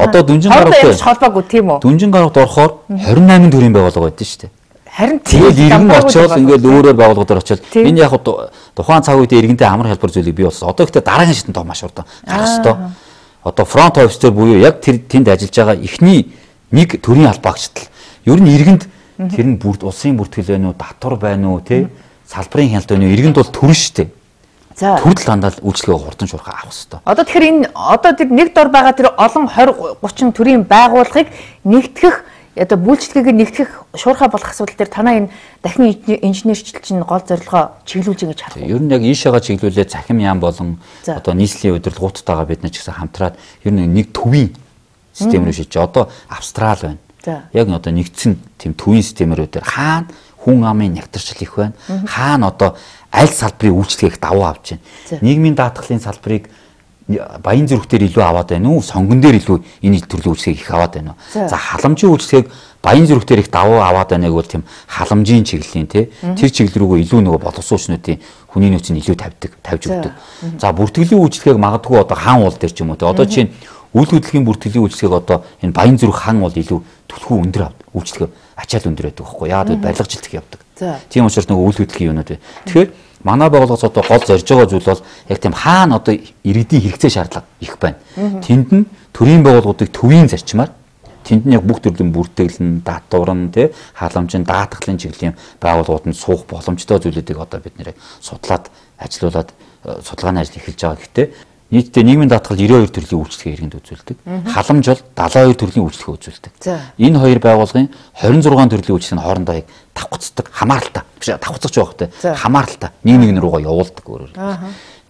Одоо дүнжин гарагт холбоогүй тийм үү? Дүнжин гарагт орохоор двадцать восемь төрийн байгууллага байдсан шүү дээ. Харин тэгээд иргэн очоод ингээд өөрөөр байгууллагуудаар очоод энэ яг тухайн цаг үед иргэнтэй амар хэлбэр зүйлийг бий болсон. Одоо ихтэй дараагийн шатнд маш урдан гарах ёстой. Одоо фронт офис дээр буюу яг тэр тэнд ажиллаж байгаа эхний нэг төрийн албаагчдал. Ер нь иргэнд тэр нь бүрд улсын бүртгэл байна уу, татвар байна уу, тий? Салбарын хяналт байна уу? Иргэнд бол төрн штэ. За төрөл хандаал үйлчлэгээ хурдан шуурхаа авах хэрэгтэй. Одоо тэгэхээр энэ одоо тэр нэг дор байгаа тэр олон двадцать тридцать төрлийн байгууллагыг нэгтгэх одоо үйлчлэгийг нэгтгэх шуурхаа болох асуудал дээр танаа энэ дахин инженерчлэл чинь гол зорилгоо чиглүүлж байгаа гэж харах. Ер нь яг ийшээгээ чиглүүлээ цахим яам болон одоо нийслэлийн удирдлагуудтайгаа бид нар ч гэсэн хамтраад ер нь нэг төвийн систем рүү шийдэж одоо австрал байна. Яг нь одоо нэгдсэн тийм төвийн системээр өдөр хаана хүн амын нягтршил их байна. Хаана одоо аль салбарын үйлчлэгийг давуу авч байна. Нийгмийн даатгалын салбарыг баян зүрхтэр илүү аваад байна уу? Сонгон дээр илүү энэ төрлийн үйлчлэгийг их аваад байна уу? За халамжийн үйлчлэгийг баян зүрхтэр их давуу аваад байгааг бол тийм халамжийн чиглэлийн тий тэр чиглэл рүүгээ илүү нөгөө боловсруучнуудын хүний нөөцийг илүү тавьдаг, тавьж өгдөг. За бүртгэлийн үйлчлэгийг магадгүй одоо хаан уул дээр ч юм уу тий одоо чинь үйл хөдлөлийн бүртгэлийн үйлчлэгийг одоо энэ баян зүрх хаан уул илүү түлхүү өндөр авдаг. Үйлчлэгээ ачаал өндөр байдаг байхгүй яагаад гэвэл барилгажилт их явдаг. Тийм учраас нөгөө үйл хөдлөлийн юмнууд бай. Тэгэхээр манай байгууллагаас одоо гол зорж байгаа зүйл бол яг тийм хаана одоо иргэдийн хэрэгцээ шаардлага их байна. Тэнд нь төрийн байгууллагуудыг төвийн зарчмаар тэнд нь яг бүх төрлийн бүртгэл нь, татвар нь, тий халамж нь, даатгалын чиглэлийн байгууллагууд нь суух боломжтой зүйлүүдийг одоо бид нэр судлаад ажилуулад судалгааны ажил эхэлж байгаа. Гэхдээ нийтдээ нийгмийн даатгал ninety-two төрлийн үйлчлэгээ иргэнд үзүүлдэг. Халамж бол seventy-two төрлийн үйлчлэгээ үзүүлдэг. Энэ хоёр байгууллагын twenty-six төрлийн үйлчлэг нь хоорондоо яг давхцдаг, хамааралтай. Биш давхцаж байгаа хөтэй. Хамааралтай. Нэг нэг руугаа явуулдаг өөрөөр.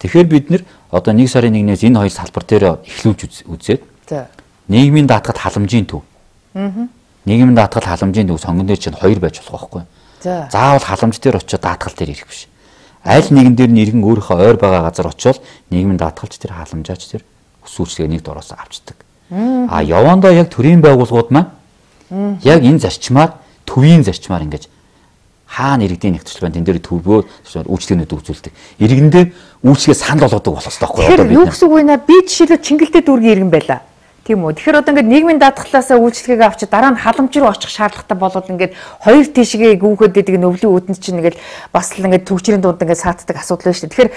Тэгэхээр бид нэр одоо нэг сарын нэгнээс энэ хоёр салбар дээр эхлүүлж үзээд нийгмийн даатгал халамжийн төв. Нийгмийн даатгал халамжийн төв сонгон дээр чинь хоёр байж болох байхгүй. Заавал халамж дээр очиод даатгал дээр ирэх биш. Аль нэгэн дээр нь иргэн өөрийнхөө ойр байгаа газар очиод нийгмийн даатгалч тэр халамжаач тэр өсвөрчлэгээ нэг дороос авчдаг. А явандаа яг төрийн байгууллагууд маань яг энэ зарчмаар төвийн зарчмаар ингэж хаана иргэдийн нэгтгэл байна тэн дээр төвөө үйлчлэгнүүд үзүүлдэг. Иргэндээ үйлчлэгээ санал болгодог болох хэрэгтэй байхгүй одоо бид. Юу гэсэн үг вэ наа би жишээлбэл Чингэлтэй дүүргийн иргэн байла. Тийм үү. Тэгэхээр одоо ингээд нийгмийн даатгалаасаа үйлчлэгээ авчид дараа нь халамж руу очих шаардлагатай болоод ингээд хоёр тишгээ гүүхэд идэг өвлийн үүдэн чинь ингээд бас л ингээд төгжрийн дунд ингээд сааддаг асуудал байна шүү дээ. Тэгэхээр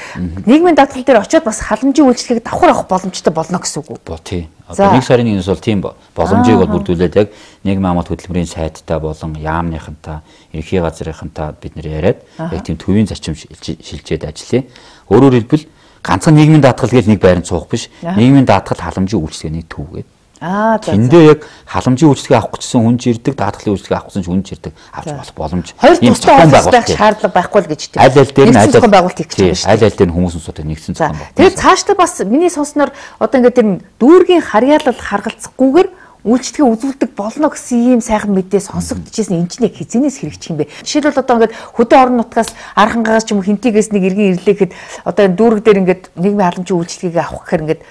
нийгмийн даатгал дээр очиод бас халамжийн үйлчлэгийг давхар авах боломжтой болно гэсэн үг үү? Бо тий. Одоо нэг сарын нэгнээс бол тийм боломжийг бол бүрдүүлээд яг нийгмийн хамгаалалт хөтөлбөрийн сайттай болон яамныхантай, ерөнхий газрынхантай бид нэр яриад яг тийм төвийн зарчим шилжээд ажиллая. Өөрөөр хэлбэл ганцхан нийгмийн даатгал гэж нэг байранд суух биш. Нийгмийн даатгал халамжийн үйлчлэгээний төв гэдэг. Аа за. Тэндээ яг халамжийн үйлчлэгээ авах гэсэн хүн жирдэг, даатгалын үйлчлэгээ авах гэсэн хүн жирдэг авч болох боломж. Хоёр тусдаа байх шаардлага байхгүй л гэж тийм. Аль аль дээр нь аль байгуулалт хийх гэж байна шүү дээ. Аль аль дээр нь хүмүүс усуудад нэгдсэн зохион байгуулалт. Тэгээд цаашдаа бас миний сонсноор одоо ингээд тэр дүүргийн харьяалал харгалзахгүйгээр үйлчлэгээ үзүүлдэг болно гэсэн ийм сайхан мэдээ сонсогдчихсэн энэ ч нэг хизэнээс хэрэгжих юм бэ. Жишээлбэл одоо ингээд хөдөө орон нутгаас архангаас ч юм уу хинтигээс нэг иргэн ирлээхэд одоо энэ дүүрэг дээр ингээд нийгмийн халамжийн үйлчлэгээ авах гэхээр ингээд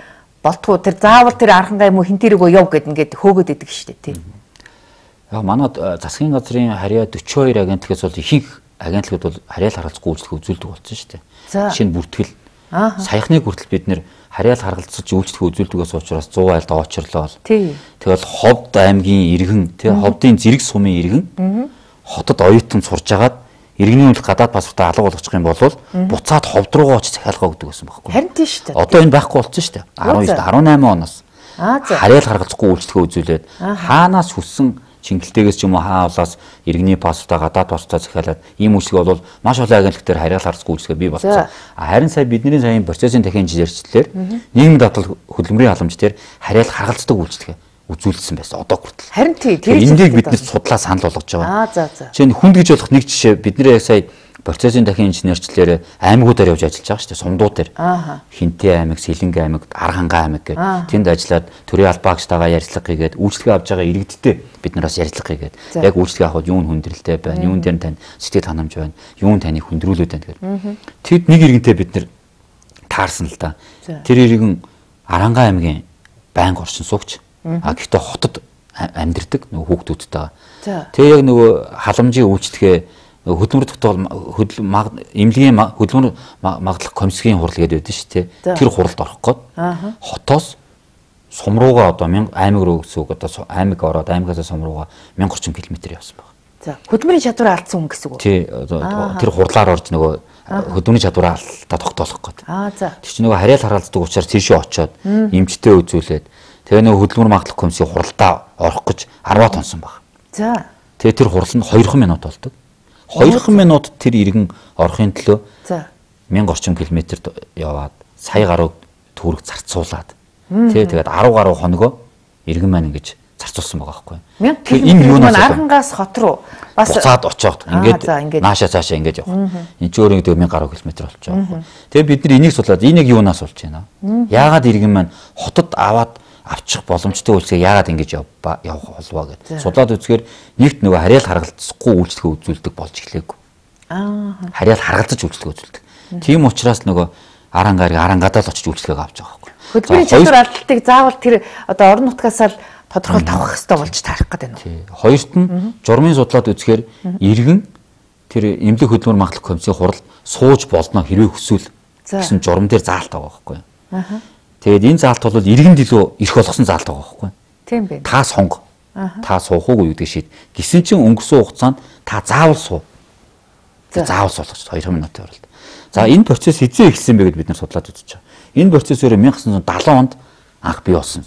болтгоо тэр заавал тэр архангай юм уу хинтэрэгөө яв гэд ингээд хөөгөөд идэг шүү дээ тийм. Яг манад засгийн газрын харьяа дөрвөн хоёр агентлагаас бол ихэнх агентлагууд бол харьяал харгалзахгүй үйлчлэгээ үзүүлдэг болсон шүү дээ. Жишээ нь бүртгэл. Саяхныг хүртэл бид нэр харьяал харгалзаж үйлчлэгээ үзүүлдэгээс учраас зуун айлд очрлоо. Тэгэл Ховд аймгийн иргэн тий Ховдын зэрэг сумын иргэн хотод оюутан сурж агаад иргэний үйл гадаад паспортаа алга болгочих юм бол буцаад Ховд руугаа очиж захиалгаа өгдөг гэсэн байхгүй. Харин тийм шүү дээ. Одоо энэ байхгүй болсон шүү дээ. дөрвөн дөрвөн восемь оноос харьяал харгалзахгүй үйлчлэгээ үзүүлээд хаанаас хүссэн Чингэлтэйгээс ч юм уу хаавлаас иргэний паспортаа гадаад паспортаа захиалаад ийм үйлчлэг бол маш олон агентлаг дээр харьяал харгалзахгүй үйлчлэг бий болсон. Харин сая бидний саяын процессын дахин инженерчлэлээр нийгмийн даатгал хөдөлмөрийн халамж дээр харьяал харгалздаг үйлчлэг үзүүлсэн байсан одоо хүртэл. Харин тий тэр эндийг биднээс судлаа санал болгож байгаа. Аа за за. Жишээ нь хүнд гэж болох нэг жишээ бидний яг сая процессын дахин инженерчлэлээр аймагуудаар явж ажиллаж байгаа шүү дээ. Сумдууд дээр. Хинтээ аймаг, Сэлэнгэ аймаг, Архангай аймаг гэх тэнд ажиллаад төрийн албаагчтайгаа ярилцлага хийгээд үйлчлэгээ авч байгаа иргэдтэй бид нараас ярилцлага хийгээд яг үйлчлэгээ авахд юун хүндрэлтэй байна, юун дээр тань сэтгэл ханамж байна, юун таныг хүндрүүлээд байна гэдэг. Тэд нэг иргэнтэй бид нэр таарсан л да. Тэр иргэн Архангай аймгийн байнга орчин суугч. А гэхдээ хотод амьдэрдэг нөгөө хүүхдүүдтэй. Тэгээ яг нөгөө халамжийн үйлчлэгээ хөдөлмөр тогтоол хөдөл эмнэлгийн хөдөлмөр магадлах комиссийн хурал гэдэг байдаг шүү дээ. Тэр хуралд орох гээд хотоос сум руугаа одоо аймаг руу гэсэн үг одоо аймаг ороод аймагаас сум руугаа мянга орчим километр явсан байна. За хөдөлмөрийн чадвараа алдсан хүн гэсэн үг. Тий тэр хурлаар орж нөгөө хөдөлмөрийн чадвараа алдаа тогтоолох гээд. Аа за. Тэр чинь нөгөө харьяал харгалздаг учраас тийшээ очоод эмчтэй үзүүлээд тэгээ нөгөө хөдөлмөр магадлах комиссийн хуралдаа орох гэж арваад тонсон баг. За. Тэгээ тэр хурал нь хоёр минут болдог. хоёр минут тэр иргэн орохын төлөө мянга орчим километрт яваад сая гаруй төгрөг зарцуулаад тий тэгээд арав гаруй хоногоо иргэн маань ингэж зарцуулсан байгаа байхгүй. Тэгэхээр энэ юунаас Архангаас хот руу бас буцаад очоод ингээд наашаа цаашаа ингэж явах. Энд ч өөрөө гэдэг мянга гаруй километр болж байгаа байхгүй. Тэгээд бид нар энийг судлаад энийг юунаас болж байна? Яагаад иргэн маань хотод аваад авчих боломжтой үйлчлэгээ яагаад ингэж явах болов гэдэг. Судлаад үзэхээр нэгт нөгөө харьяал харгалзахгүй үйлчлэгээ үзүүлдэг болж эхлэв. Аа. Харьяал харгалзаж үйлчлэгээ үзүүлдэг. Тийм учраас нөгөө Архангайг Архангадаа л очиж үйлчлэгээ авч байгаа байхгүй. Хөдөлмөрийн чадвар алдалтыг заавал тэр одоо орон нутгаас л тодорхойлт авах хэрэгтэй болж таарах гэдэг нь. Тий. Хоёрт нь журмын судлаад үзэхээр иргэн тэр эмнэлэг хөдөлмөр магадлах комиссийн хурал сууж болно хэрвээ хүсвэл гэсэн журам дээр заалт байгаа байхгүй. Аа. Тэгээд энэ заалт бол иргэнд илүү ирэх болгосон заалт байгаа байхгүй. Тийм бэ. Та сонго. Та суух уугүй гэдэг шийд. Гисэн чинь өнгөрсөн хугацаанд та заавал суу. Заавал суулгач хоёр минутын уралд. За энэ процесс хэзээ эхэлсэн бэ гэдээ бид нар судлаад үзэж байгаа. Энэ процесс өөрөө 천ix дагалан онд анх бий болсон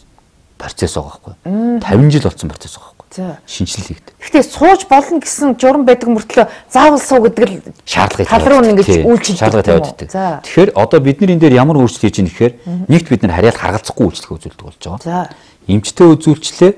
процесс байгаа байхгүй. тавин жил болсон процесс байгаа байхгүй. Шинжилэл хийгдэ. Гэхдээ сууж болно гэсэн журам байдаг мөртлөө заавал суу гэдэг л шаардлага тал руу ингэж үйлчилдэг. Шаардлага тавиад байдаг. Тэгэхээр одоо бидний энэ дээр ямар өөрчлөлт хийж байгаа нэхээр нэгт бид нар харьяал харгалзахгүй үйлчлэг үзүүлдэг болж байгаа. Эмчтэй үзүүлчлээ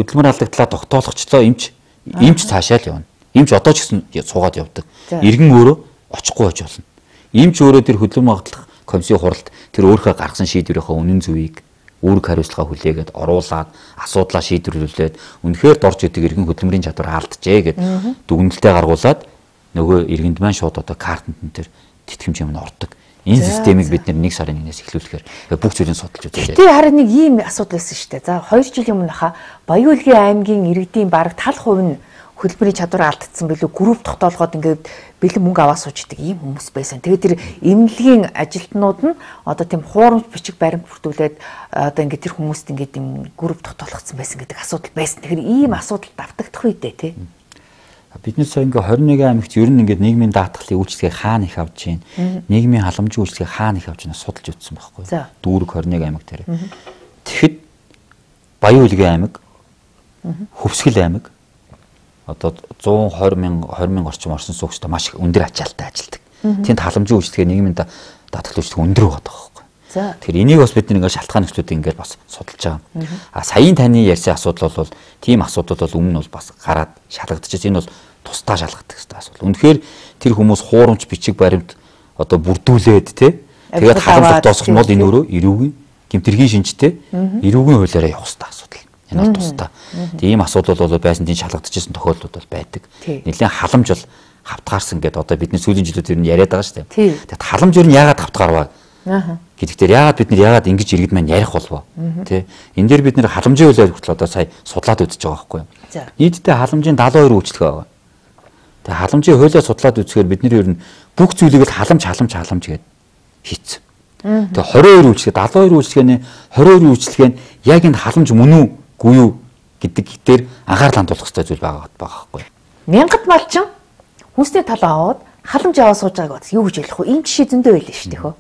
хөдөлмөр алдагдлаа тогтоологчлоо эмч эмч цаашаа л явна. Эмч одоо ч гэсэн суугаад явдаг. Иргэн өөрөө очихгүй байж болно. Эмч өөрөө тэр хөдөлмөр магадлах комиссийн хуралд тэр өөрийнхөө гаргасан шийдвэрийнхээ үнэн зөвийг үүрэг хариуцлага хүлээгээд оруулаад асуудлаа шийдвэрлүүлээд үнэхээр дорж идэг иргэн хөдөлмөрийн чадвар алджээ гэд дүгнэлтээ гаргуулад нөгөө иргэнд маань шууд одоо картанд энэ төр тэтгэмж юм ордог. Энэ системийг бид нэг сарын нэгнээс эхлүүлэхээр бүх зүйлийг судалж үзлээ. Гэтэ харин нэг ийм асуудал байсан шүү дээ. За хоёр жилийн өмнө хаа Баян-Улгийн аймгийн иргэдийн бараг тал хувь нь хөдөлмөрийн чадвар алдсан билүү групп тогтоолгоод ингээд бэлэн мөнгө аваа суучдаг ийм хүмүүс байсан. Тэгээд тэр эмнэлгийн ажилтнууд нь одоо тийм хуурамч бичиг баримт бүртгүүлээд одоо ингээд тэр хүмүүст ингээд ийм групп тогтоолгоцсон байсан гэдэг асуудал байсан. Тэгэхээр ийм асуудал давтагдах үедээ тий. Бид нэг сая ингээд хорин нэгэн аймагт ер нь ингээд нийгмийн даатгалын үйлчлэгийг хаана их авч чинь, нийгмийн халамжийн үйлчлэгийг хаана их авч чинь судалж үзсэн байхгүй. Дүүрэг хорин нэгэн аймаг дээр. Тэгэхэд Баян Улгийн аймаг, Хөвсгөл аймаг одоо зуун хорин мянга хорин мянга орчим орсон суугчтай маш их өндөр ачаалттай ажилдаг. Тэнд халамжийн үйлчлэгээ нийгмийн даатгалын үйлчлэг өндөр байгаа байхгүй. Тэгэхээр энийг бас бид нэг шалтгаан нөхцлүүд ингээд бас судалж байгаа. А саяын таны ярьсан асуудал бол тийм асуудал бол өмнө нь бол бас гараад шалгагдчихсан. Энэ бол тусдаа шалгадаг гэсэн асуудал. Үнэхээр тэр хүмүүс хуурамч бичиг баримт одоо бүрдүүлээд тий тэгээд халамж тосгох нь бол энэ өөрөө эрүүгийн гэмтэргийн шинжтэй эрүүгийн хуулиараа явах хэрэгтэй асуудал. Энэ бол тусдаа. Тийм асуудал бол байсан тийм шалгагдчихсан тохиолдлууд бол байдаг. Нэлээд халамж бол хавтгаарсан гэдэг одоо бидний сүүлийн жилүүд ер нь яриад байгаа шүү дээ. Тэгээд халамж ер нь яагаад хавтгаарваа гэдэгтэр яагаад бид нар яагаад ингэж иргэд маань ярих болов тий энэ дээр бид нар халамжийн хуулиар хүртэл одоо сая судлаад үзэж байгаа байхгүй юу. Нийтдээ халамжийн дагалан хоёр үйлчлэг байгаа. Тэгээ халамжийн хуулиар судлаад үзэхээр бид нар ер нь бүх зүйлийг л халамж халамж халамж гэдээ хийцэн. Тэгээ двадцать хоёр үйлчлэг дагалан хоёр үйлчлэгээний двадцать хоёр үйлчлэгээ нь яг энэ халамж мөн үү гүй юу гэдэг дээр анхаарал хандуулах хэрэгтэй зүйл байгаа байхгүй юу. Мянгат малчин хүнсний талаа аваад халамж аваа сууж байгааг бас юу гэж хэлэх вэ? Ийм жишээ зөндөө байлаа шүү дээ хөө.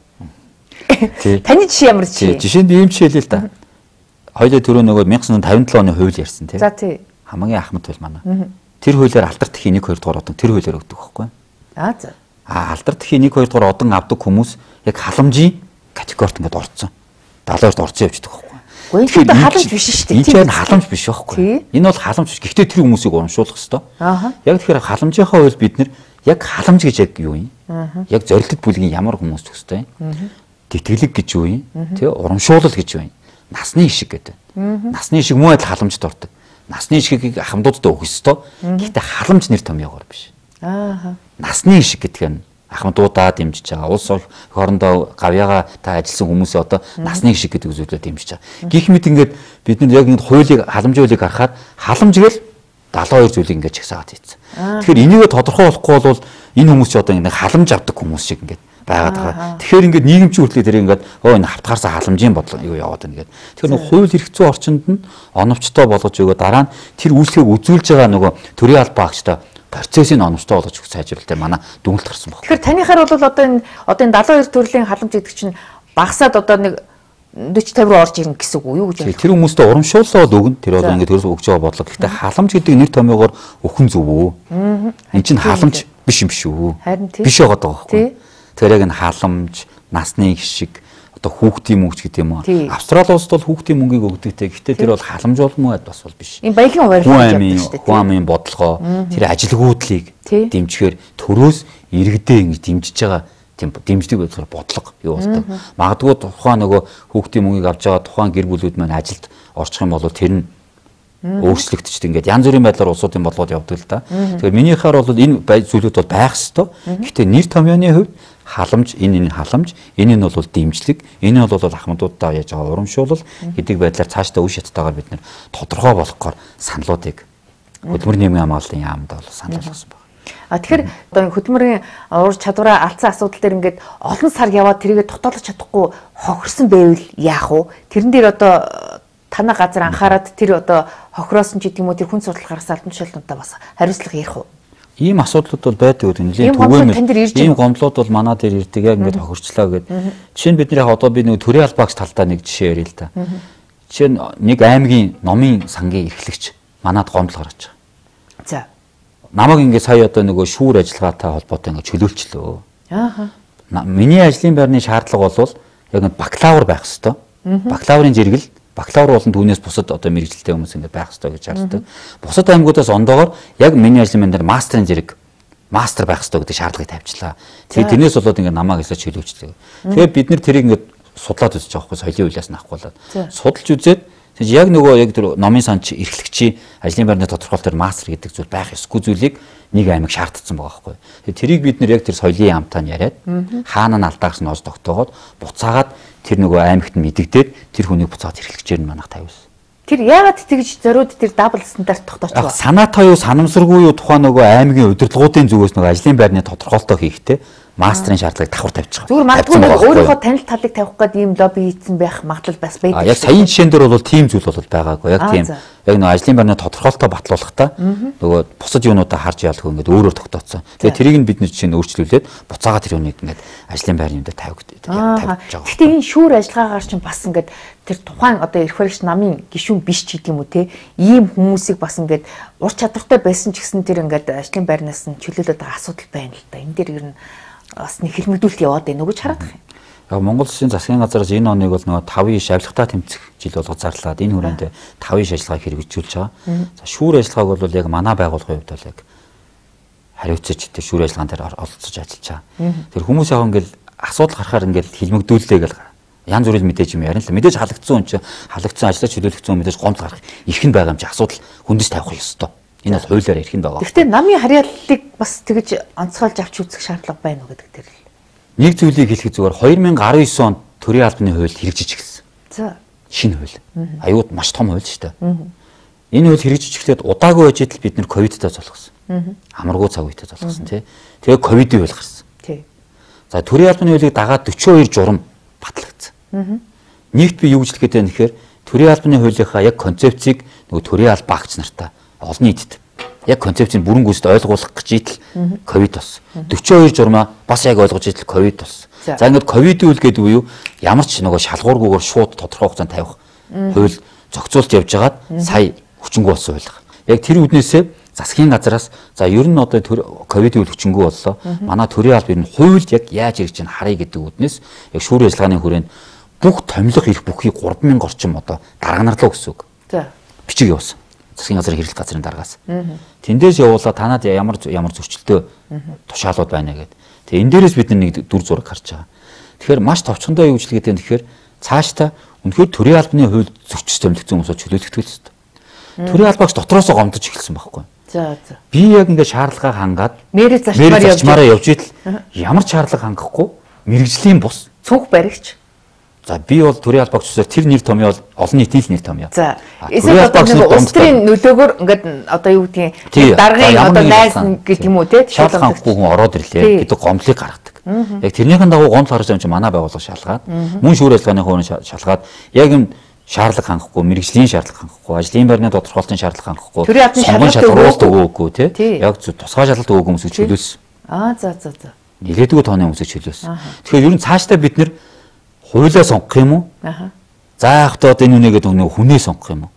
Таны жишээ ямар жишээ? Жишээнд ийм жишээ л л да. Хоёулаа түрүү нөгөө 천ix тавьдаа оны хууль ярьсан тий. За тий. Хамгийн ахмад хууль манай. Тэр хуулиар алдар тхийн нэг хоёр дугаар одон тэр хуулиар өгдөг байхгүй юу? Аа за. А алдар тхийн нэг хоёр дугаар одон авдаг хүмүүс яг халамжийн категорид ингээд орцсон. дагалан хоёрт орцсон явждаг байхгүй юу? Тэгэхээр халамж биш шүү дээ. Энэ чинь халамж биш байхгүй юу? Энэ бол халамж биш. Гэхдээ тэр хүмүүсийг урамшуулах хэрэгтэй. Аа. Яг тэгэхээр халамжийнхаа хууль бид нэр яг халамж гэж яг юу юм? Яг зорилттой бүлгийн ямар хүмүүс төгстэй? Тэтгэлэг гэж юу юм? Тэ урамшуулал гэж юу юм? Насны ишиг гэдэг. Насны ишиг муу адил халамжд ордог. Насны ишгийг ахмадуудад өгөх ёстой. Гэхдээ халамж нэр томьёогоор биш. Аа. Насны ишиг гэдэг нь ахмадуудаа дэмжиж байгаа. Улс хоорондоо гавьяага та ажилласан хүмүүсээ одоо насны ишиг гэдэг зүйлээр дэмжиж байгаа. Гэх мэт ингээд бид нар яг энэ хуулийг халамжийн хуулийг харахад халамж гэл дагалан хоёр зүйлийг ингээд чагсаад ийцэн. Тэгэхээр энийг тодорхойлохгүй бол энэ хүмүүс ч одоо ингээд халамж авдаг хүмүүс шиг ингээд байгаад байгаа. Тэгэхээр ингээд нийгэмчин хүртлээр тэр ингээд оо энэ хавтгаарсан халамжийн бодлого юу яваад байна гэдэг. Тэгэхээр нөгөө хууль эрх зүйн орчинд нь оновчтой болгож өгөө дараа нь тэр үйлчлэгийг үзүүлж байгаа нөгөө төрийн албаа агчтай процессыг оновчтой болгож өгөх сайжруулалт манай дүгнэлт гарсан байна. Тэгэхээр танихаар бол одоо энэ одоо энэ дагалан хоёр төрлийн халамж гэдэг чинь багасаад одоо нэг forty fifty руу орж ирнэ гэсэн үг юу гэж байна? Тэр хүмүүстээ урамшууллаад өгнө. Тэр бол ингээд төрөөс өгж байгаа бодлого. Гэхдээ халамж гэдэг нэр томьёогоор өхөн зөв үү? Энд чинь халамж биш юм шүү. Биш байгаа даа байхгүй. Тэр яг энэ халамж, насны ишиг, одоо хүүхдийн мөнгө гэдэг юм уу? Австрали улсад бол хүүхдийн мөнгийг өгдөгтэй. Гэхдээ тэр бол халамж болмоо бас бол биш. Энэ баялагын хуваарь явдаг шүү дээ. Хуамын бодлогоо, тэр ажилгүйдлийг дэмжихээр төрөөс иргэдээ ингэж дэмжиж байгаа тийм дэмждэг байдлаар бодлого юу болдог. Магадгүй тухайн нөгөө хүүхдийн мөнгийг авч байгаа тухайн гэр бүлүүд маань ажилд орчих юм бол тэр нь өөрчлөгдөж ингээд янз бүрийн байдлаар улсуудын бодлогод явдаг л да. Тэгэхээр миний хаар бол энэ зүйлүүд бол байх ёстой. Гэхдээ нэр томьёоны хувьд халамж энэ энэ халамж энэ нь бол дэмжлэг энэ нь бол ахмадуудаа яаж байгаа урамшуулал гэдэг байдлаар цаашдаа үе шаттайгаар бид нэр тодорхой болгохоор саналуудыг хөдөлмөрийн нийгмийн хамгааллын яамд бол санал болгосон байна. А тэгэхээр одоо хөдөлмөрийн ур чадвараа алдсан асуудал дээр ингээд олон сар яваад тэрийгэ дотоолж чадахгүй хохирсон байвал яах вэ? Тэрэн дээр одоо танай газар анхаарад тэр одоо хохироосон ч гэдэг юм уу тэр хүн судалгаараас албан тушаалтнуудаа бас хариуцлага ярих уу? Ийм асуудлууд бол байдаг үү? Нэлээд түгээмэл. Ийм гомдлууд бол манай дээр ирдэг яг ингээд хохирчлаа гэдэг. Жишээ нь бид нэр яг одоо би нэг төрийн албаагч талдаа нэг жишээ ярил л да. Жишээ нь нэг аймгийн номын сангийн эрхлэгч манад гомдол гаргаж байгаа. За. Намайг ингээд сая одоо нөгөө шүүр ажиллагаатай холбоотой ингээд чөлөөлчлөө. Ааха. Миний ажлын байрны шаардлага бол яг нэг бакалавр байх хэвээр. Бакалаврын зэрэгэл бакалавр болон түүнээс бусад одоо мэрэгжилтэй хүмүүс ингээд байх хэрэгтэй гэж шаарддаг. Бусад аймагуудаас ондоогоор яг миний ажлын байр дээр мастерын зэрэг мастер байх хэрэгтэй гэдэг шаардлагыг тавьчлаа. Тэгээд тэрнээс болоод ингээд намайг хэсэж чөлөөчлөө. Тэгээд бид нэр тэрийг ингээд судлаад үзэж байгаа хгүй соёлын хуулиас нахгүй болоод. Судалж үзээд яг нөгөө яг тэр номын санч эрхлэгчийн ажлын байрны тодорхойлолт төр мастер гэдэг зүйл байх ёсгүй зүйлийг нэг аймаг шаардсан байгаа байхгүй. Тэгээд тэрийг бид нэр яг тэр соёлын яамтаа нь яриад хаана нь алдаагч нь оос тогтоогоод буцаагаад тэр нөгөө аймагт нь мэдэгдээд тэр хүнийг буцаад эрхлэгчээр нь манах тавьсан. Тэр яагаад тэгж зориуд тэр дабл стандарт тогтооч вэ? Санаатай юу, санамсаргүй юу тухайн нөгөө аймгийн удирдлагуудын зүгээс нөгөө ажлын байрны тодорхойлолтоо хийхдээ мастрын шаардлагыг давхар тавьж байгаа. Зүгээр магадгүй нэг өөрийнхөө танил талыг тавих гэдэг ийм лобби хийсэн байх магадлал бас байдаг. Яг саяын жишээн дээр бол тийм зүйл бол байгаагүй. Яг тийм. Яг нөгөө ажлын байрны тодорхойлолтоо батлуулахдаа нөгөө бусад юунуудаа харж яалах ингээд өөрөөр тогтооцсон. Тэгээ тэрийг нь бид нэг жишээ нь өөрчлүүлээд буцаага тэр юуныг ингээд ажлын байрны дээр тавих тавьж байгаа. Гэхдээ энэ шүүр ажиллагаагаар чинь бас ингээд тэр тухайн одоо эрх баригч намын гишүүн биш ч гэдэг юм уу те ийм хүмүүсийг бас ингээд ур чадвартай байсан ч гэсэн тэр ингээд ажлын байрнаас нь чөлөөлөд байгаа асуудал байна л да. Энэ дээр ер нь бас нэг хэрмэгдүүлэлт яваад байна уу гэж хараад байна. Яг Монгол Улсын засгийн газраас энэ оныг бол нөгөө тавын иш авилгатай тэмцэх жил болгож зарлаад энэ хүрээнд тавын иш ажиллагааг хэрэгжүүлж байгаа. За шүүр ажиллагааг бол яг манай байгууллагын хувьд бол яг хариуцаж тэр шүүр ажиллагаан дээр оролцож ажиллаж байгаа. Тэр хүмүүс яг ингээл асуудал гарахаар ингээл хилмигдүүлээ гэл янз бүрийн мэдээж юм ярина л мэдээж халагдсан хүн чинь халагдсан ажлаа чөлөөлөгдсөн хүн мэдээж гомдол гарах их нь байгаа юм чи асуудал хүндэс тавих ёстой. Энэ бол хуулиар ярих нь байгаа. Гэхдээ намын харьяаллыг бас тэгж онцгойлж авч үзэх шаардлага байна уу гэдэг дээр л. Нэг зүйлийг хэлэхэд зүгээр две тысячи десять онд төрийн албаны хууль хэрэгжиж гисэн. За. Шинэ хууль. Аюуд маш том хууль шүү дээ. Энэ хууль хэрэгжиж эхлээд удаагүй байж идэл бид нэр ковидтай золгосон. Амаргүй цаг үетэй золгосон тий. Тэгээ ковидын хууль гарсан. Тий. За төрийн албаны хуулийг дагаад forty-two журам батлагдсан. Нэгт би юу гэж хэлэх гээд байна гэхээр төрийн албаны хуулийнхаа яг концепцийг нөгөө төрийн алба багч нартаа олон нийтэд яг концепцийг бүрэн гүйцэд ойлгуулах гэж идэл ковид болсон. forty-two журмаа бас яг ойлгож идэл ковид болсон. За ингээд ковидын үйл гэдэг үе юу ямар ч нөгөө шалгуургүйгээр шууд тодорхой хугацаанд тавих хууль зохицуулж явж байгаад сая хүчингү болсон хууль. Яг тэр үднээсээ засгийн газараас за ер нь одоо ковидын үйл хүчингү боллоо. Манай төрийн алба ер нь хуульд яг яаж ирж чинь харъя гэдэг үднээс яг шүүр ажиллагааны хүрээнд бүх томилох эрх бүхий three thousand орчим одоо дарганарлаа гэсэн үг. За бичиг явуулсан. Засгийн газрын хэрэглэх газрын даргаас. Тэндээс явуулаад танад ямар ямар зөрчилтэй тушаалууд байна гэдэг. Тэгээ энэ дээрээс бид нэг дүр зураг харж байгаа. Тэгэхээр маш товчхондоо юу гэж хэлгээд байна тэгэхээр цаашдаа үнэхээр төрийн албаны хууль зөрчиж томилгдсон хүмүүсөө чөлөөлөгдөх ёстой. Төрийн албаагч дотроосоо гомдож эхэлсэн байхгүй. За за. Би яг ингээд шаардлагаа хангаад мэрэг зарчмаараа явж идэл ямар ч шаардлага хангахгүй мэрэгжлийн бус цүнх баригч. За би бол төрийн албаагчсаар тэр нэр томьёо бол олон нийтийн нэр томьёо. За эсвэл одоо нэг улс төрийн нөлөөгөөр ингээд одоо юу гэдгийг даргын одоо найз гэдэг юм уу те шалгахгүй хүн ороод ирлээ гэдэг гомдлыг гаргадаг. Яг тэрнийхэн дагуу гомдол гарч байгаа юм чи манай байгууллага шалгаад мөн шүүр ажиллагааны хувийн шалгаад яг юм шаардлага хангахгүй, мэрэгжлийн шаардлага хангахгүй, ажлын байрны тодорхойлолтын шаардлага хангахгүй, сонгон шалгаруулалт өгөөгүй тий. Яг тусгай шалгалт өгөөгүй хүмүүсийг чөлөөлсөн. Аа за за за. Нилээдгүй тооны хүмүүсийг чөлөөлсөн. Тэгэхээр ер нь цаашдаа бид нэр хуулиа сонгох юм уу? Аа. За яг одоо энэ үнэгээд өнөө хүнээ сонгох юм уу?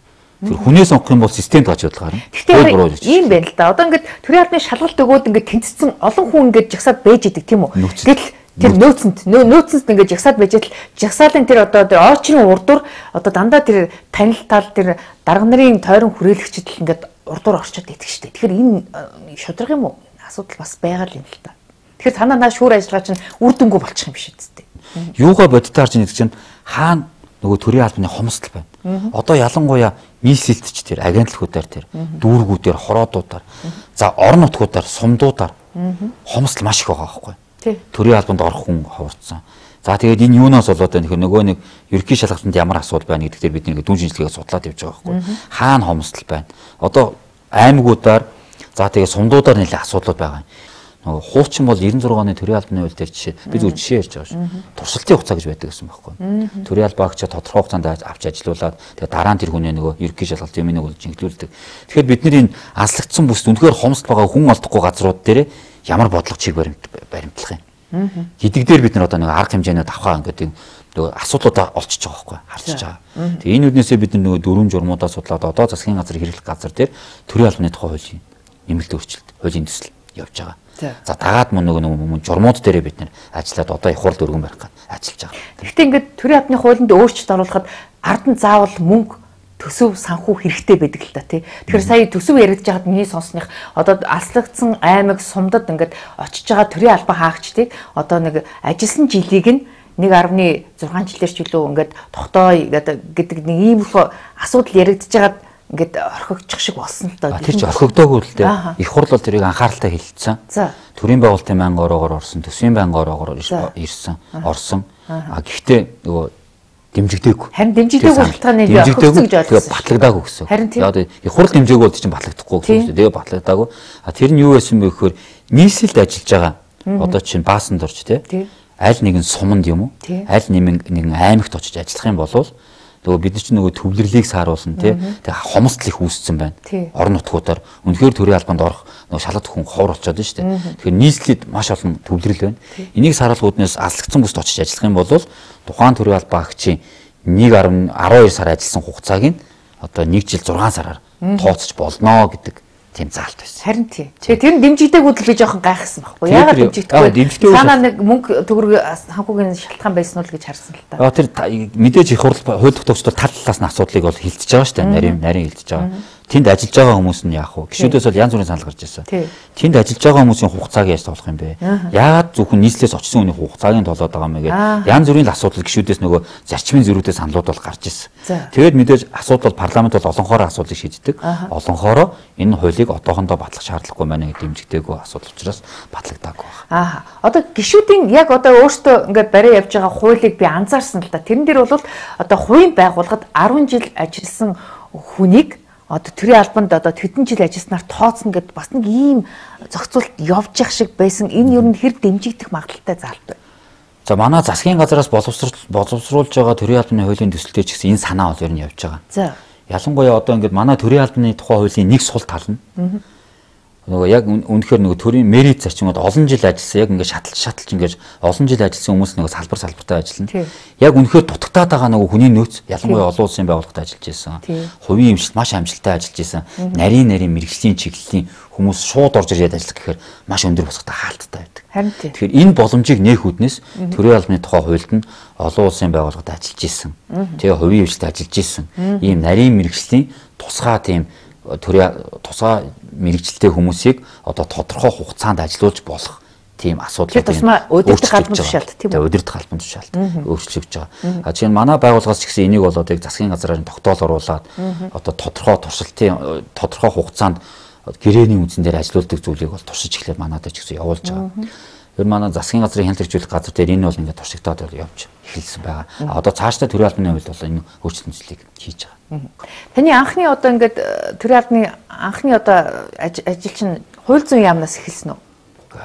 Тэр хүнээ сонгох юм бол системд гаж бодлоо гарна. Тэгэхээр ийм байна л да. Одоо ингээд төрийн албаны шалгалт өгөөд ингээд тэнцсэн олон хүн ингээд жагсаад бэж идэг тийм үү? Гэтэл тэр нөөцөнд нөөцөнд ингээд жагсаад байж л жагсаалын тэр одоо очрын урдуур одоо дандаа тэр танил тал тэр дарга нарын тойрон хүрээлэгчд л ингээд урдуур орчод идэх штеп. Тэгэхээр энэ шудраг юм уу? Асуудал бас байгаа л юм л та. Тэгэхээр танаа наа шүүр ажиллагаа чинь үр дүнгүй болчих юм биш үсттэй. Юугаа бодитоор чинь гэдэг чинь хаана нөгөө төрийн албаны хомсдол байна. Одоо ялангуяа нийслэлтч тэр агентлагуудаар тэр дүүргүүдээр хороодуудаар за орон нутгуудаар сумдуудаар хомсдол маш их байгаа байхгүй. Төрийн албанд орох хүн ховорцсон. За тэгээд энэ юунаас болоод байна гэхээр нөгөө нэг ерөнхий шалгалтанд ямар асуудал байна гэдэг дээр бид нэг дүн шинжилгээ судлаад явж байгаа байхгүй. Хаана хомсдол байна. Одоо аймагуудаар за тэгээд сумдуудаар нэлээд асуудлууд байгаа. Нөгөө хуучин бол ninety-six оны төрийн албаны хууль дээр жишээ би зөв жишээ ярьж байгаа шүү. Туршилтын хугацаа гэж байдаг гэсэн байхгүй. Төрийн албаагч тодорхой хугацаанд авч ажиллуулад тэгээ дараа нь тэр хүний нөгөө ерөнхий шалгалт юм нэг болж инглүүлдэг. Тэгэхээр бид нар энэ аслагдсан бүст үнэхээр хомсдол байгаа хүн олдохгүй газрууд дээр ямар бодлого чиг баримтлах юм. Гэдэг дээр бид нар одоо нэг арга хэмжээний давхаа ингээд нөгөө асуудлуудаа олчиж байгаа байхгүй харчиж байгаа. Тэгээ энэ үднээсээ бид нар нөгөө дөрвөн журмуудаа судлаад одоо засгийн газрын хэрэглэх газар дээр төрийн албаны тухай хуулийн нэмэлт өөрчлөлт, хуулийн төсөл явж байгаа. За дагаад мөн нөгөө мөн журмууд дээрээ бид нэр ажиллаад одоо их хурл өргөн барих гэж ажиллаж байгаа. Гэхдээ ингээд төрийн албаны хуулинд өөрчлөлт оруулахад ард нь заавал мөнгө төсөв санхүү хэрэгтэй байдаг л та тий. Тэгэхээр сая төсөв яригдж байгаад миний сонсных одоо алслагдсан аймаг сумдад ингээд очиж байгаа төрийн албан хаагчдыг одоо нэг ажилласан жилийг нь one point six жилээр ч үлээ ингээд тогтооё гэдэг нэг ийм их асуудал яригдж байгаад ингээд орхигдчих шиг болсон л доо. Тэр чинь орхигдоогүй л дээ. Их хурл бол тэрийг анхааралтай хэлэлцсэн. За. Төрийн байгуулалтын байнгын ороогоор орсон, төсвийн байнгын ороогоор ирсэн, орсон. А гэхдээ нөгөө дэмжигдээгүй. Харин дэмжигдээгүй шалтгааны би өгсөн гэж ойлгосон. Батлагдаагүй гэсэн. Яг их хурл дэмжээгүй бол чинь батлагдахгүй гэсэн. Тэгээ батлагдаагүй. А тэр нь юу байсан бэ гэхээр нийслэлд ажиллаж байгаа. Одоо чинь баасанд орж тий. Аль нэгэн суманд юм уу? Аль нэгэн аймагт очиж ажиллах юм бол нөгөө бид нар чинь нөгөө төвлөрлийг сааруулсан тий. Тэгээ хомсдол их үүссэн байна. Орон нутгуудаар үнэхээр төрийн албанд орох нөгөө шалгалт хүн ховор болчиход байна шүү дээ. Тэгэхээр нийслэлд маш олон төвлөрөл байна. Энийг сааруулгууднаас аслагдсан бүст очиж ажиллах юм бол тухайн төрийн албан агчийн нэг гаруй арван хоёр сар ажилласан хугацааг нь одоо нэг жил зургаан сараар тооцож болно гэдэг тийм заалт байсан. Харин тий. Тэгээ тэр нь дэмжигдээгүй л би жоохон гайхсан байхгүй. Яагаад дэмжигдэхгүй? Санаа нэг мөнгө төгрөг санхүүгийн шалтгаан байсан уу гэж харсан л та. Аа тэр мэдээж их хурл хууль тогтоогчдод тал талаас нь асуудлыг бол хилцэж байгаа шүү дээ. Нарийн нарийн хилцэж байгаа. Тэнд ажиллаж байгаа хүмүүс нь яах вэ? Гишүүдээс бол янз бүрийн санал гарч ирсэн. Тэнд ажиллаж байгаа хүмүүсийн хугацааг яаж тоолох юм бэ? Яагаад зөвхөн нийслэлээс очсон хүний хугацааг нь тоолоод байгаа юм бэ гэдэг янз бүрийн асуудал гишүүдээс нөгөө зарчмын зөрүүтэй саналуд бол гарч ирсэн. Тэгээд мэдээж асуудал бол парламент бол олонхоор асуудлыг шийддэг. Олонхоор энэ хуулийг одоохондоо батлах шаардлагагүй байна гэдэг дэмжигдээгүй асуудал учраас батлагдаагүй байна. Аа. Одоо гишүүдийн яг одоо өөртөө ингээд барай явж байгаа хуулийг би анзаарсан л да. Тэрэн дээр бол одоо хувийн байгууллагад арван жил ажилласан хүнийг одоо төрийн албанд одоо хэдэн жил ажилласнаар тооцно гэд бас нэг ийм зохицуулт явж явах шиг байсан. Энэ юу н хэрэг дэмжигдэх магадлалтай заалт байна. За манай засгийн газраас боловсруулж боловсруулж байгаа төрийн албаны хуулийн төсөлтэй ч гэсэн энэ санаа бол ер нь явж байгаа. За. Ялангуяа одоо ингээд манай төрийн албаны тухай хуулийн нэг сул тал нь нөгөө яг үнэхээр нөгөө төрийн мерит зарчмууд олон жил ажилласан яг ингээд шаталж шаталж ингээд олон жил ажилласан хүмүүс нөгөө салбар салбартаа ажиллана. Яг үнэхээр дутагтаад байгаа нөгөө хүний нөөц ялангуяа олон улсын байгууллагад ажиллаж байсан. Хувийн эмчилт маш амжилттай ажиллаж байсан. Нарийн нарийн мэрэгжлийн чиглэлийн хүмүүс шууд орж ирээд ажиллах гэхээр маш өндөр босготой хаалттай байдаг. Тэгэхээр энэ боломжийг нээх үүднээс төрийн албаны тухай хуульд нь олон улсын байгууллагад ажиллаж исэн. Тэгээ хувийн эмчилтэд ажиллаж исэн. Ийм нарийн мэрэгжлийн тусгай тийм төрийн тусгай мэрэгчлээ хүмүүсийг одоо тодорхой хугацаанд ажилуулж болох тийм асуудлууд энэ өдөртөх албан тушаалт тийм үү өдөртөх албан тушаалт өөрчлөгдөж байгаа. А чинь манай байгууллагаас ч гэсэн энийг бол одоо засгийн газраар тогтоол оруулаад одоо тодорхой туршилтын тодорхой хугацаанд гэрээний үндсэн дээр ажилуулдаг зүйлийг бол туршиж эхлээд манайдаа ч гэсэн явуулж байгаа. Тэр манай засгийн газрын хяналт хэрэгжүүлэх газар дээр энэ бол ингээд туршигдаад явж эхэлсэн байгаа. А одоо цаашдаа төрийн албаны хувьд бол энэ өөрчлөлтийг хийж байгаа. Таны анхны одоо ингээд төрийн албаны анхны одоо ажил чинь хууль зүйн яамнаас эхэлсэн үү?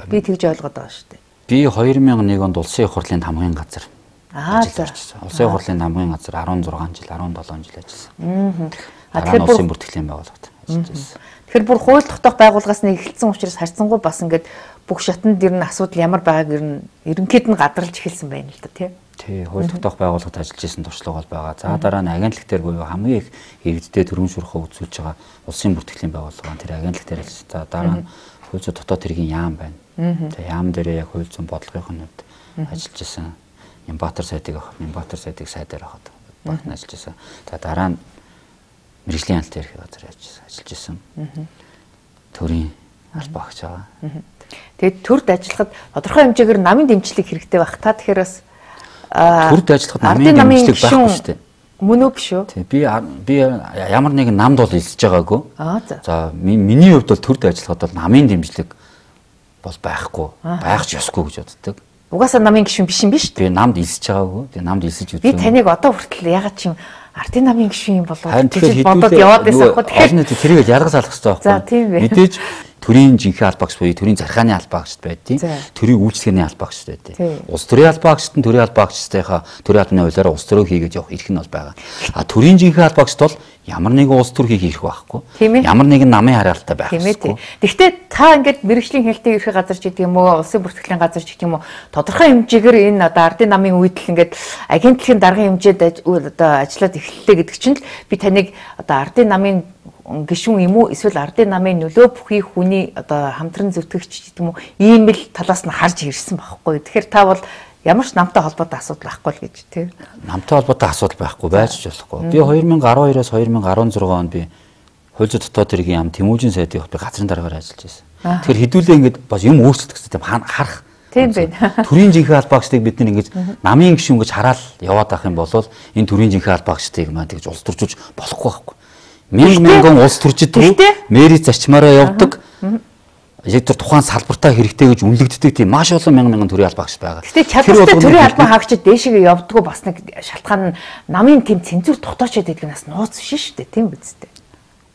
Би тэгж ойлгоод байгаа шүү дээ. Би хоёр мянган нэг онд улсын их хурлын хамгийн газар ажиллаж байсан. Улсын их хурлын хамгийн газар арван зургаан жил, арван долоон жил ажилласан. Аа. Тэгэхээр улсын бүртгэлийн байгууллагад ажиллаж байсан. Тэгэхээр бүр хууль тогтоох байгууллагаас нэг эхэлсэн учраас харьцангуй бас ингээд бүх шатнд дэр нь асуудал ямар байгааг ер нь ерөнхийд нь гадралж эхэлсэн байна л да тий. Тий, хууль тогтоох байгууллагад ажиллаж исэн туршлага бол байгаа. За дараа нь агентлаг дээр буюу хамгийн их иргэдтэй төрийн шуурхаа үзүүлж байгаа улсын бүртгэлийн байгууллага тэр агентлаг дээр ажиллаж. За дараа нь хууль зүйн дотоод хэргийн яам байна. За яам дээр яг хууль зүйн бодлогын хувьд ажиллаж исэн. Нямбатар сайдыг авах, Нямбатар сайдыг сайдаар авахд багт ажиллаж исэн. За дараа нь мэрэгжлийн хяналт ерхий газар ажиллаж исэн. Төрийн албан агч байгаа. Тэгээд төрд ажиллахад тодорхой хэмжээгээр намын дэмжлэг хэрэгтэй байх. Та тэгэхээр бас төрд ажиллахад намын дэмжлэг байхгүй шүү дээ. Мөн үү биш үү? Тий. Би би ямар нэгэн намд бол илсэж байгаагүй. Аа за. За миний хувьд бол төрд ажиллахад бол намын дэмжлэг бол байхгүй. Байх ч ёсгүй гэж боддог. Угаасаа намын гишүүн биш юм биш үү? Би намд илсэж байгаагүй. Тэгээ намд илсэж үзсэн. Би таныг одоо хүртэл ягаад ч юм ардын намын гишүүн юм болов гэж бодоод яваад байсан хөө. Тэгэхээр тэрийг ялгаж алах хэрэгтэй байхгүй. Мэдээж төрийн жинхэнэ албаагч буюу төрийн зархааны албаагчд байдیں۔ Төрийн үйлчлэгээний албаагчд байдیں۔ Улс төрийн албаагчд нь төрийн албаагчдынхаа төрийн албаны хуулиараа улс төрөө хийгээд явах эрх нь бол байгаа. А төрийн жинхэнэ албаагчд бол ямар нэгэн улс төр хийх эрх байхгүй. Ямар нэгэн намын хараалтай байх хэрэггүй. Гэхдээ та ингээд мэрэгжлийн хяналтын ерхий газар ч гэдэг юм уу, улсын бүртгэлийн газар ч гэдэг юм уу, тодорхой хэмжээгээр энэ одоо ардын намын үед л ингээд агентлагийн даргын хэмжээд одоо ажиллаад эхэллээ гэдэг чинь л би таныг одоо ардын намын гишүүн юм уу эсвэл ардын намын нөлөө бүхий хүний одоо хамтран зүтгэгч гэдэг юм уу ийм л талаас нь харж ирсэн байхгүй. Тэгэхээр та бол ямар ч намтай холбоотой асуудал байхгүй л гэж тий. Намтай холбоотой асуудал байхгүй байж ч болохгүй. Би хоёр мянга арван хоёроос хоёр мянга арван зургаан онд би хууль зүйн дотоод хэргийн яам Тэмүүжин сайдын би газрын дараагаар ажиллаж байсан. Тэгэхээр хэдүүлээ ингээд бас юм өөрчлөлт гэсэн тийм харах. Тийм байна. Төрийн жинхэнэ албаагчдыг бид нэг ингэж намын гишүүн гэж хараад яваад авах юм бол энэ төрийн жинхэнэ албаагчдыг маань тэгж улс төржүүлж болохгүй байхгүй. Мянган мянган улс төрчид рүү мэрийн зарчмаараа явдаг. яг тэр тухайн салбартаа хэрэгтэй гэж үнэлэгддэг тийм маш олон мянган мянган төрийн албаагч байгаа. Гэтэ чадвартай төрийн албан хаагчид дээшээ явдггүй бас нэг шалтгаан нь намын тийм цензур тогтоочод идэх нас нууц биш шүү дээ, тийм биз дээ.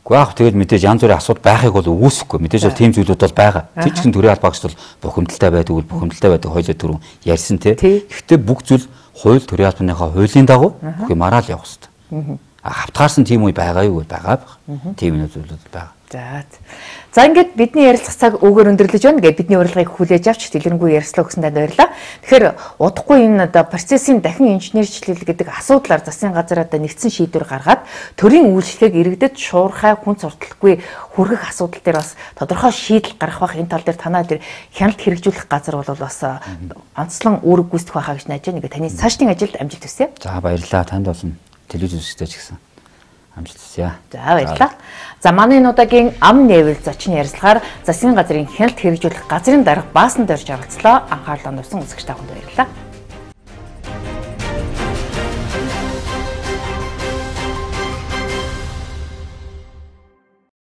Гэхдээ яг тэгээд мэдээж янз бүрийн асуудал байхыг бол үүсэхгүй. Мэдээж бол тийм зүйлүүд бол байгаа. Тэр чинь төрийн албаагчд бол бухимдалтай байдаг үл бухимдалтай байдаг хоёулаа түрүүн ярьсан тий. Гэхдээ бүх зүйл хууль төрийн албаныхаа хуулийн дагуу бүх юм араа л явах хэрэгтэй. Хавтгаарсан тийм үе байгаа юу байгаа байх. Тийм нэг зүйлүүд байгаа. За. За ингээд бидний ярилцах цаг өгөр өндөрлөж байна. Ингээд бидний урилгыг хүлээж авч дэлгэрэнгүй ярилцлаа өгсөн танд баярлалаа. Тэгэхээр удахгүй энэ одоо процессын дахин инженерчлэл гэдэг асуудлаар засгийн газар одоо нэгдсэн шийдвэр гаргаад төрийн үйлчлэгийг иргэдэд шуурхай хүн сурталгүй хүргэх асуудал дээр бас тодорхой шийдэл гарах бах. Энэ тал дээр танаа дээр хяналт хэрэгжүүлэх газар бол бас онцлон үүрэг гүйцэтгэх байхаа гэж найж байна. Ингээд таны цаашдын ажилд амжилт хүсье. За баярлалаа. Танд болсон телевиз үзэгчтэй ч гэсэн амжилт хүсье. За баярлалаа. За манай энэ удаагийн ам нээвэл зочин ярилцлагаар засгийн газрын хяналт хэрэгжүүлэх газрын дарга баасан дөрж оролцлоо. Анхаарлаа тавьсан үзэгч та бүхэнд баярлалаа.